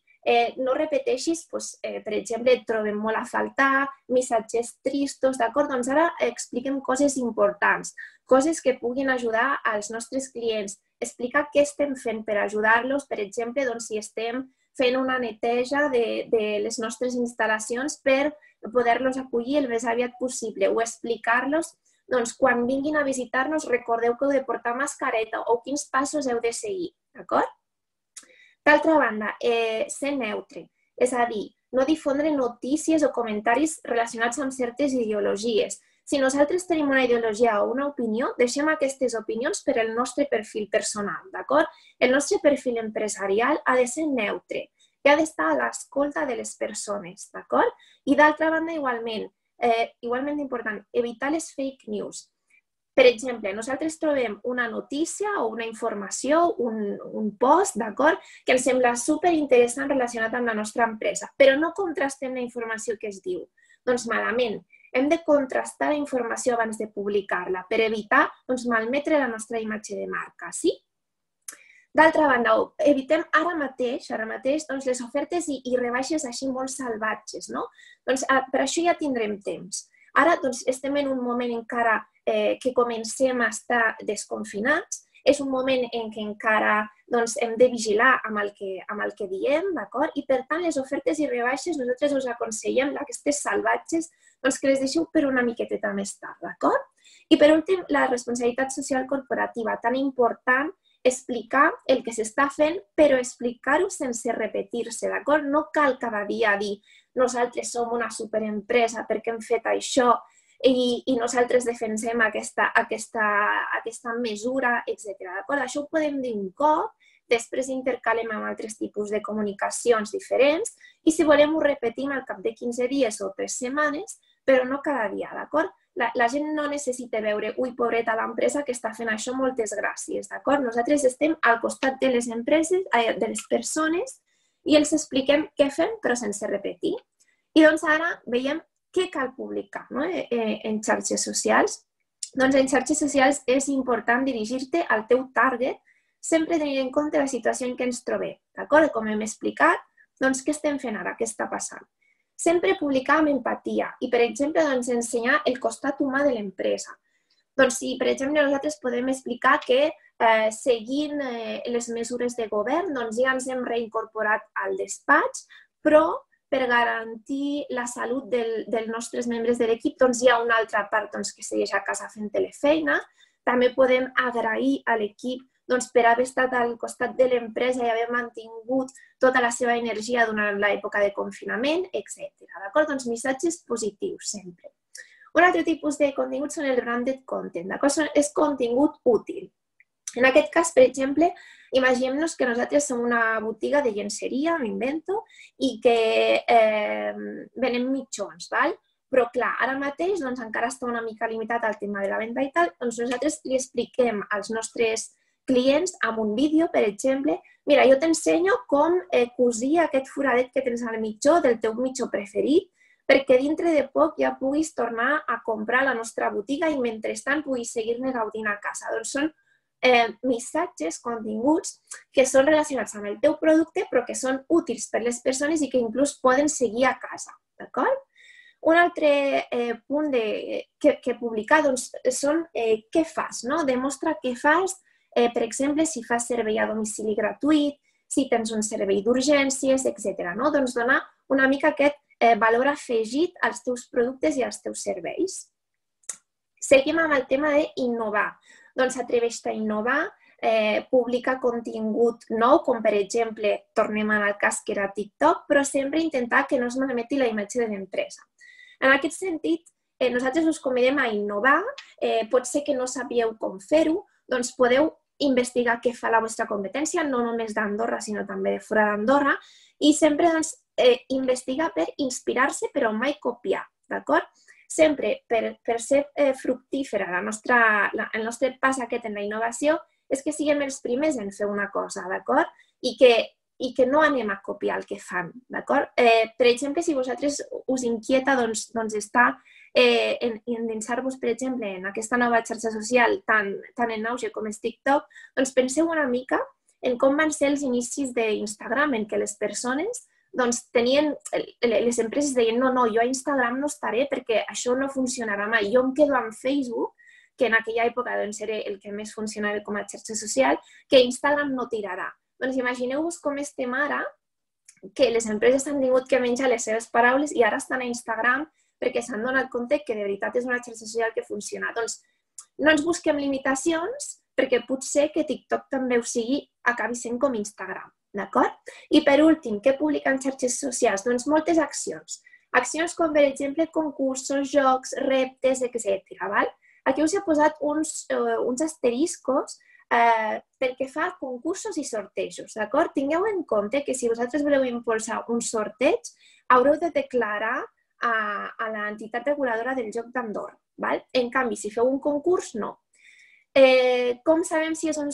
no repeteixis, per exemple, et trobem molt a faltar, missatges tristos, d'acord? Doncs ara expliquem coses importants, coses que puguin ajudar als nostres clients. Explicar què estem fent per ajudar-los, per exemple, si estem fent una neteja de les nostres instal·lacions per poder-los acollir el més aviat possible o explicar-los, quan vinguin a visitar-nos recordeu que heu de portar mascareta o quins passos heu de seguir, d'acord? D'altra banda, ser neutre, és a dir, no difondre notícies o comentaris relacionats amb certes ideologies. Si nosaltres tenim una ideologia o una opinió, deixem aquestes opinions per al nostre perfil personal, d'acord? El nostre perfil empresarial ha de ser neutre i ha d'estar a l'escolta de les persones, d'acord? I d'altra banda, igualment important, evitar les fake news. Per exemple, nosaltres trobem una notícia o una informació, un post, d'acord, que ens sembla superinteressant relacionat amb la nostra empresa, però no contrastem la informació que es diu. Doncs malament. Hem de contrastar la informació abans de publicar-la per evitar malmetre la nostra imatge de marca, sí? D'altra banda, evitem ara mateix les ofertes i rebaixes així molt salvatges, no? Doncs per això ja tindrem temps. Ara estem en un moment encara que comencem a estar desconfinats, és un moment en què encara hem de vigilar amb el que diem, d'acord? I per tant, les ofertes i rebaixes nosaltres us aconsellem aquestes salvatges que les deixeu per una miqueteta més tard, d'acord? I per últim, la responsabilitat social corporativa, tan important, explicar el que s'està fent, però explicar-ho sense repetir-se, d'acord? No cal cada dia dir nosaltres som una superempresa perquè hem fet això i nosaltres defensem aquesta mesura, etc. D'acord? Això ho podem dir un cop, després intercalem amb altres tipus de comunicacions diferents i si volem ho repetim al cap de 15 dies o 3 setmanes, però no cada dia, d'acord? La gent no necessita veure, ui, pobreta l'empresa que està fent això, moltes gràcies, d'acord? Nosaltres estem al costat de les empreses, de les persones, i els expliquem què fem, però sense repetir. I doncs ara veiem què cal publicar en xarxes socials. Doncs en xarxes socials és important dirigir-te al teu target, sempre tenint en compte la situació en què ens trobem, d'acord? Com hem explicat, doncs què estem fent ara, què està passant? Sempre publicar amb empatia i, per exemple, ensenyar el costat humà de l'empresa. Doncs si, per exemple, nosaltres podem explicar que seguint les mesures de govern ja ens hem reincorporat al despatx, però per garantir la salut dels nostres membres de l'equip hi ha una altra part que segueix a casa fent telefeina. També podem agrair a l'equip per haver estat al costat de l'empresa i haver mantingut tota la seva energia durant l'època de confinament, etc. D'acord? Doncs missatges positius, sempre. Un altre tipus de contingut són el branded content, d'acord? És contingut útil. En aquest cas, per exemple, imaginem-nos que nosaltres som una botiga de llenceria, m'invento, i que venem mitjons, d'acord? Però, clar, ara mateix encara està una mica limitat al tema de la venda i tal, doncs nosaltres li expliquem als nostres clients amb un vídeo, per exemple, mira, jo t'ensenyo com cosir aquest foradet que tens al mitjó del teu mitjó preferit perquè dintre de poc ja puguis tornar a comprar a la nostra botiga i mentrestant puguis seguir-ne gaudint a casa. Doncs són missatges, continguts que són relacionats amb el teu producte però que són útils per les persones i que inclús poden seguir a casa. d'acord? Un altre punt que publicar són què fas, no? Demostra què fas, per exemple, si fas servei a domicili gratuït, si tens un servei d'urgències, etc. Doncs donar una mica aquest valor afegit als teus productes i als teus serveis. Seguim amb el tema d'innovar. Doncs atreveix-te a innovar, publica contingut nou, com per exemple, tornem al cas que era TikTok, però sempre intentar que no es malmeti la imatge de l'empresa. En aquest sentit, nosaltres us convidem a innovar, pot ser que no sabíeu com fer-ho, doncs podeu investigar què fa la vostra competència, no només d'Andorra, sinó també de fora d'Andorra, i sempre investigar per inspirar-se, però mai copiar, d'acord? Sempre per ser fructífera el nostre pas aquest en la innovació és que siguem els primers en fer una cosa, d'acord? I que no anem a copiar el que fan, d'acord? Per exemple, si vosaltres us inquieta estar endinsar-vos, per exemple, en aquesta nova xarxa social tan en auge com és TikTok, doncs penseu una mica en com van ser els inicis d'Instagram, en què les persones les empreses deien no, jo a Instagram no estaré perquè això no funcionarà mai, jo em quedo amb Facebook, que en aquella època era el que més funcionava com a xarxa social, que Instagram no tirarà. Doncs imagineu-vos com estem ara, que les empreses han tingut que menjar les seves paraules i ara estan a Instagram perquè s'han donat compte que de veritat és una xarxa social que funciona. Doncs no ens busquem limitacions perquè potser que TikTok també ho sigui, acabi sent com Instagram, d'acord? I per últim, què publiquen xarxes socials? Doncs moltes accions. Accions com, per exemple, concursos, jocs, reptes, etc. Aquí us he posat uns asteriscos perquè fa concursos i sortejos, d'acord? Tingueu en compte que si vosaltres voleu impulsar un sorteig, haureu de declarar a l'entitat reguladora del joc d'Andorra. En canvi, si feu un concurs, no. Com sabem si és un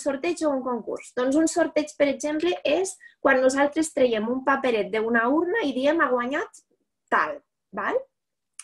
sorteig o un concurs? Doncs un sorteig, per exemple, és quan nosaltres traiem un paperet d'una urna i diem ha guanyat tal.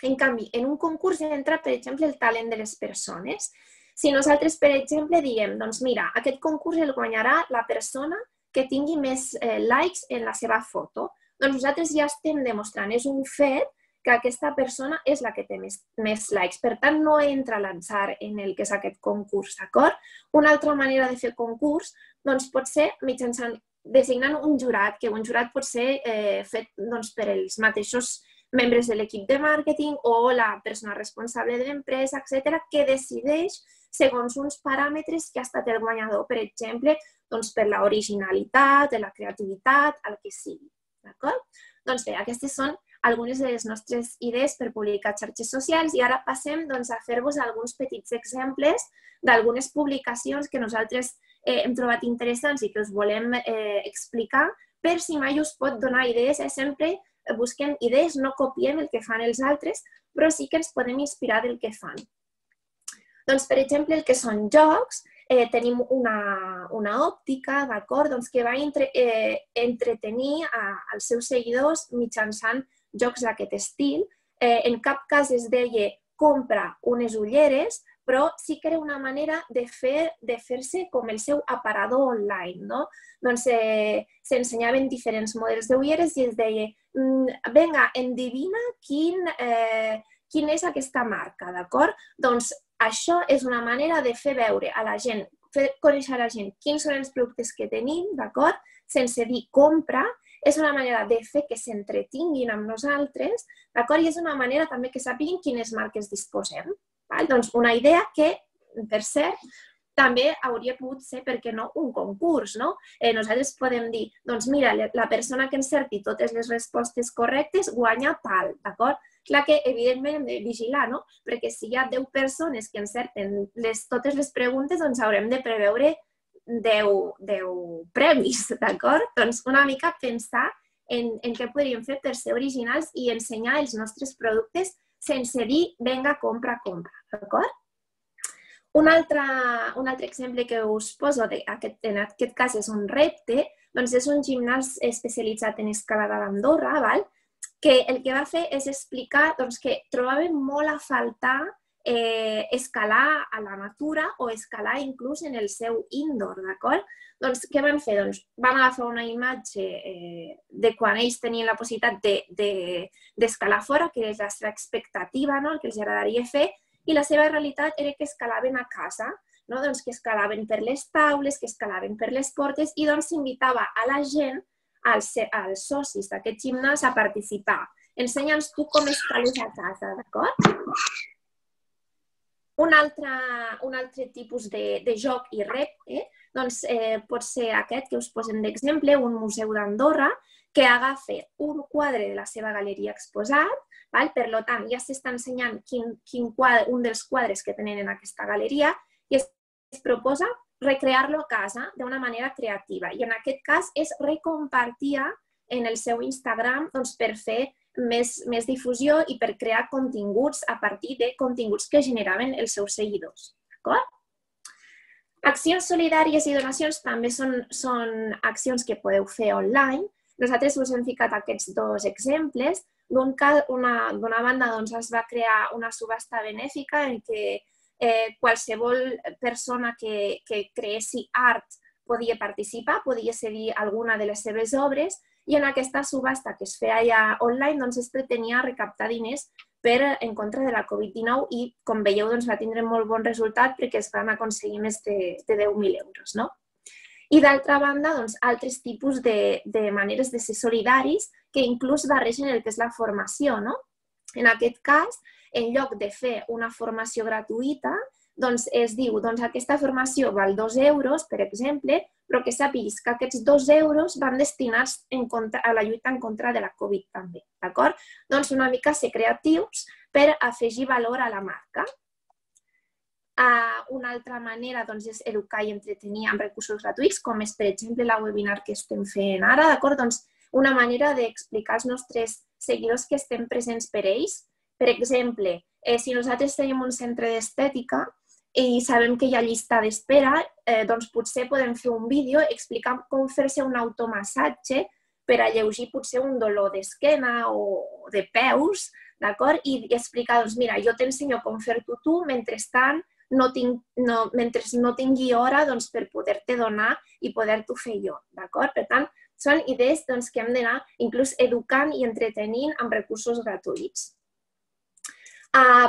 En canvi, en un concurs entra, per exemple, el talent de les persones. Si nosaltres, per exemple, diem, doncs mira, aquest concurs el guanyarà la persona que tingui més likes en la seva foto, doncs nosaltres ja estem demostrant, és un fet que aquesta persona és la que té més likes. Per tant, no entra a l'atzar en el que és aquest concurs, d'acord? Una altra manera de fer concurs pot ser mitjançant designant un jurat, que un jurat pot ser fet per els mateixos membres de l'equip de màrqueting o la persona responsable de l'empresa, etc., que decideix segons uns paràmetres que ha estat el guanyador, per exemple, per l'originalitat, la creativitat, el que sigui. D'acord? Doncs bé, aquestes són algunes de les nostres idees per publicar xarxes socials i ara passem a fer-vos alguns petits exemples d'algunes publicacions que nosaltres hem trobat interessants i que us volem explicar per si mai us pot donar idees. Sempre busquem idees, no copiem el que fan els altres, però sí que ens podem inspirar del que fan. Doncs, per exemple, el que són jocs, tenim una òptica, d'acord, que va entretenir als seus seguidors mitjançant jocs d'aquest estil. En cap cas es deia compra unes ulleres, però sí que era una manera de fer-se com el seu aparador online, no? Doncs s'ensenyaven diferents models d'ulleres i es deia, vinga, endevina quina és aquesta marca, d'acord? Doncs això és una manera de fer veure a la gent, fer conèixer a la gent quins són els productes que tenim, d'acord? Sense dir compra, és una manera de fer que s'entretinguin amb nosaltres, d'acord? I és una manera també que sàpiguin quines marques disposem. Doncs una idea que, per cert, també hauria pogut ser, per què no, un concurs, no? Nosaltres podem dir, doncs mira, la persona que encerti totes les respostes correctes guanya tal, d'acord? Clar que, evidentment, hem de vigilar, no? Perquè si hi ha 10 persones que encerten totes les preguntes, doncs haurem de preveure 10 premis, d'acord? Doncs una mica pensar en què podríem fer per ser originals i ensenyar els nostres productes sense dir, vinga, compra, d'acord? Un altre exemple que us poso, en aquest cas és un repte, doncs és un gimnàs especialitzat en escalada d'Andorra, que el que va fer és explicar que trobàvem molt a faltar escalar a la natura o escalar inclús en el seu indoor, d'acord? Doncs què van fer? Doncs van agafar una imatge de quan ells tenien la possibilitat d'escalar fora, que és la seva expectativa, no? El que els agradaria fer, i la seva realitat era que escalaven a casa, no? Doncs que escalaven per les taules, que escalaven per les portes, i doncs s'invitava a la gent, als socis d'aquest gimnàs, a participar. Ensenya'ns tu com escales a casa, d'acord? Un altre tipus de joc i repte doncs, pot ser aquest que us posem d'exemple, un museu d'Andorra que agafa un quadre de la seva galeria exposat, per tant ja s'està ensenyant un dels quadres que tenen en aquesta galeria i es proposa recrear-lo a casa d'una manera creativa. I en aquest cas és recompartir en el seu Instagram per fer més difusió i per crear continguts a partir de continguts que generaven els seus seguidors. D'acord? Accions solidàries i donacions també són accions que podeu fer online. Nosaltres us hem ficat aquests dos exemples. D'una banda es va crear una subhasta benèfica en què qualsevol persona que creessi art podia participar, podia cedir alguna de les seves obres, i en aquesta subhasta que es feia ja online es pretenia recaptar diners en contra de la Covid-19 i, com veieu, va tindre molt bon resultat perquè es van aconseguir més de 10.000 euros. I d'altra banda, altres tipus de maneres de ser solidaris que inclús barregen el que és la formació. En aquest cas, en lloc de fer una formació gratuïta, es diu aquesta formació val 2 euros, per exemple, però que sàpiguis que aquests 2 euros van destinats a la lluita en contra de la Covid també. D'acord? Una mica ser creatius per afegir valor a la marca. Una altra manera és educar i entretenir amb recursos gratuïts, com és, per exemple, la webinar que estem fent ara. D'acord? Una manera d'explicar als nostres seguidors que estem presents per ells. Per exemple, si nosaltres tenim un centre d'estètica i sabem que hi ha llista d'espera, potser podem fer un vídeo explicant com fer-se un automassatge per alleujar potser un dolor d'esquena o de peus, d'acord? I explicar, mira, jo t'ensenyo com fer-t'ho tu, mentrestant mentre no tingui hora per poder-te donar i poder-t'ho fer jo, d'acord? Per tant, són idees que hem d'anar inclús educant i entretenint amb recursos gratuïts.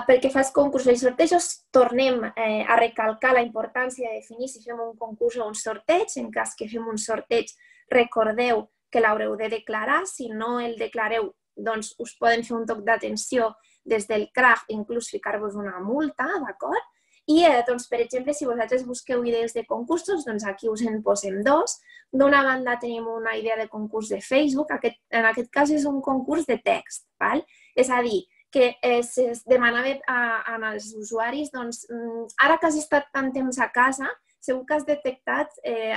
Pel que fa als concursos i sortejos, tornem a recalcar la importància de definir si fem un concurs o un sorteig. En cas que fem un sorteig, recordeu que l'haureu de declarar. Si no el declareu, us poden fer un toc d'atenció des del CRAF i inclús ficar-vos una multa, d'acord? I, per exemple, si vosaltres busqueu idees de concursos, aquí us en posem dos. D'una banda tenim una idea de concurs de Facebook, en aquest cas és un concurs de text, és a dir, que es demanava als usuaris, ara que has estat tant temps a casa, segur que has detectat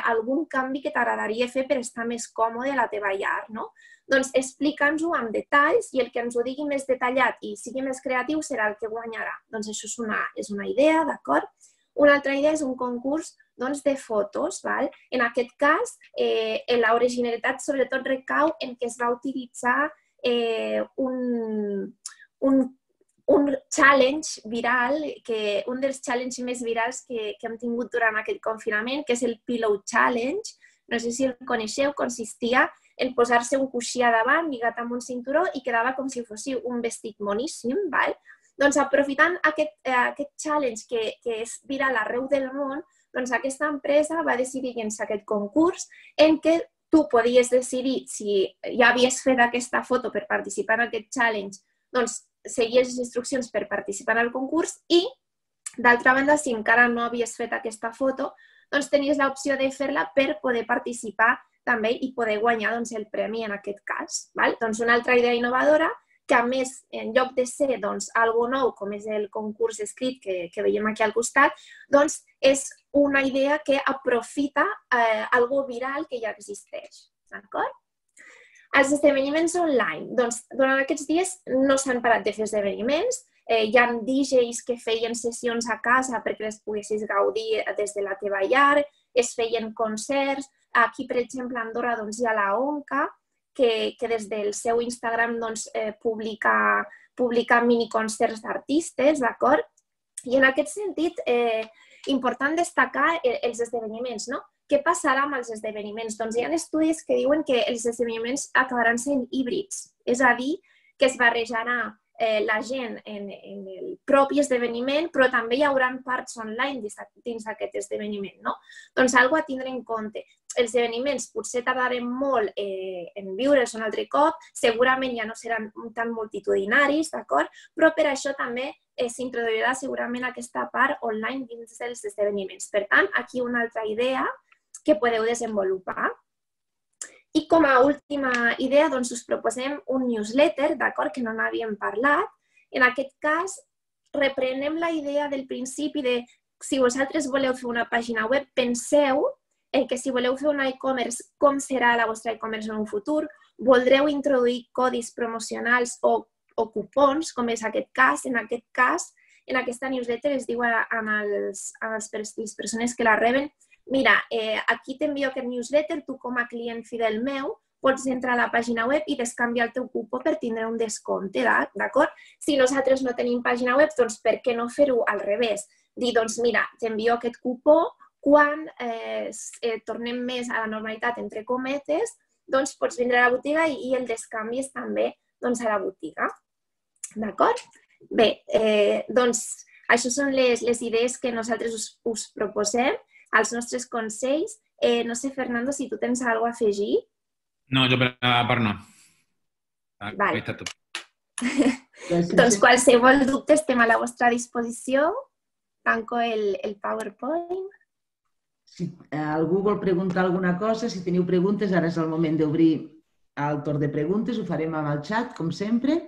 algun canvi que t'agradaria fer per estar més còmode a la teva llar, no? Doncs explica'ns-ho amb detalls i el que ens ho digui més detallat i sigui més creatiu serà el que guanyarà. Doncs això és una idea, d'acord? Una altra idea és un concurs de fotos. En aquest cas, l'originalitat sobretot recau en què es va utilitzar un challenge viral, un dels challenges més virals que hem tingut durant aquest confinament, que és el Pillow Challenge. No sé si el coneixeu, consistia en posar-se un coixí a davant lligat amb un cinturó i quedava com si fos un vestit moníssim. Doncs aprofitant aquest challenge que és viral arreu del món, aquesta empresa va decidir llançar aquest concurs en què tu podies decidir, si ja havies fet aquesta foto per participar en aquest challenge, seguies les instruccions per participar en el concurs i, d'altra banda, si encara no havies fet aquesta foto, tenies l'opció de fer-la per poder participar també i poder guanyar el premi en aquest cas. Una altra idea innovadora que, a més, en lloc de ser algo nou, com és el concurs escrit que veiem aquí al costat, és una idea que aprofita algo viral que ja existeix. D'acord? Els esdeveniments online. Durant aquests dies no s'han parat de fer esdeveniments. Hi ha DJs que feien sessions a casa perquè les poguessis gaudir des de la teva llar, es feien concerts. Aquí, per exemple, a Andorra hi ha la ONCA, que des del seu Instagram publica miniconcerts d'artistes, d'acord? I en aquest sentit, important destacar els esdeveniments, no? Què passarà amb els esdeveniments? Doncs hi ha estudis que diuen que els esdeveniments acabaran sent híbrids, és a dir, que es barrejarà la gent en el propi esdeveniment, però també hi haurà parts online dins aquest esdeveniment, no? Doncs alguna cosa a tindre en compte. Els esdeveniments potser tardarem molt en viure'ls un altre cop, segurament ja no seran tan multitudinaris, d'acord? Però per això també s'introduirà segurament aquesta part online dins dels esdeveniments. Per tant, aquí una altra idea que podeu desenvolupar. I com a última idea, doncs, us proposem un newsletter, d'acord, que no n'havíem parlat. En aquest cas, reprenem la idea del principi de si vosaltres voleu fer una pàgina web, penseu en que si voleu fer un e-commerce, com serà la vostra e-commerce en un futur, voldreu introduir codis promocionals o cupons, com és aquest cas. En aquest cas, en aquesta newsletter es diu a les persones que la reben: mira, aquí t'envio aquest newsletter, tu com a client fidel meu pots entrar a la pàgina web i descanviar el teu cupó per tindre un descompte, d'acord? Si nosaltres no tenim pàgina web, doncs per què no fer-ho al revés? Dir, doncs mira, t'envio aquest cupó, quan tornem més a la normalitat, entre cometes, doncs pots vindre a la botiga i el descanvi és també a la botiga. D'acord? Bé, doncs això són les idees que nosaltres us proposem, els nostres consells. No sé, Fernando, si tu tens alguna cosa a afegir. No, jo per part no. Vale. Està tot. Doncs qualsevol dubte estem a la vostra disposició. Tanco el PowerPoint. Si algú vol preguntar alguna cosa, si teniu preguntes, ara és el moment d'obrir el torn de preguntes, ho farem amb el xat, com sempre.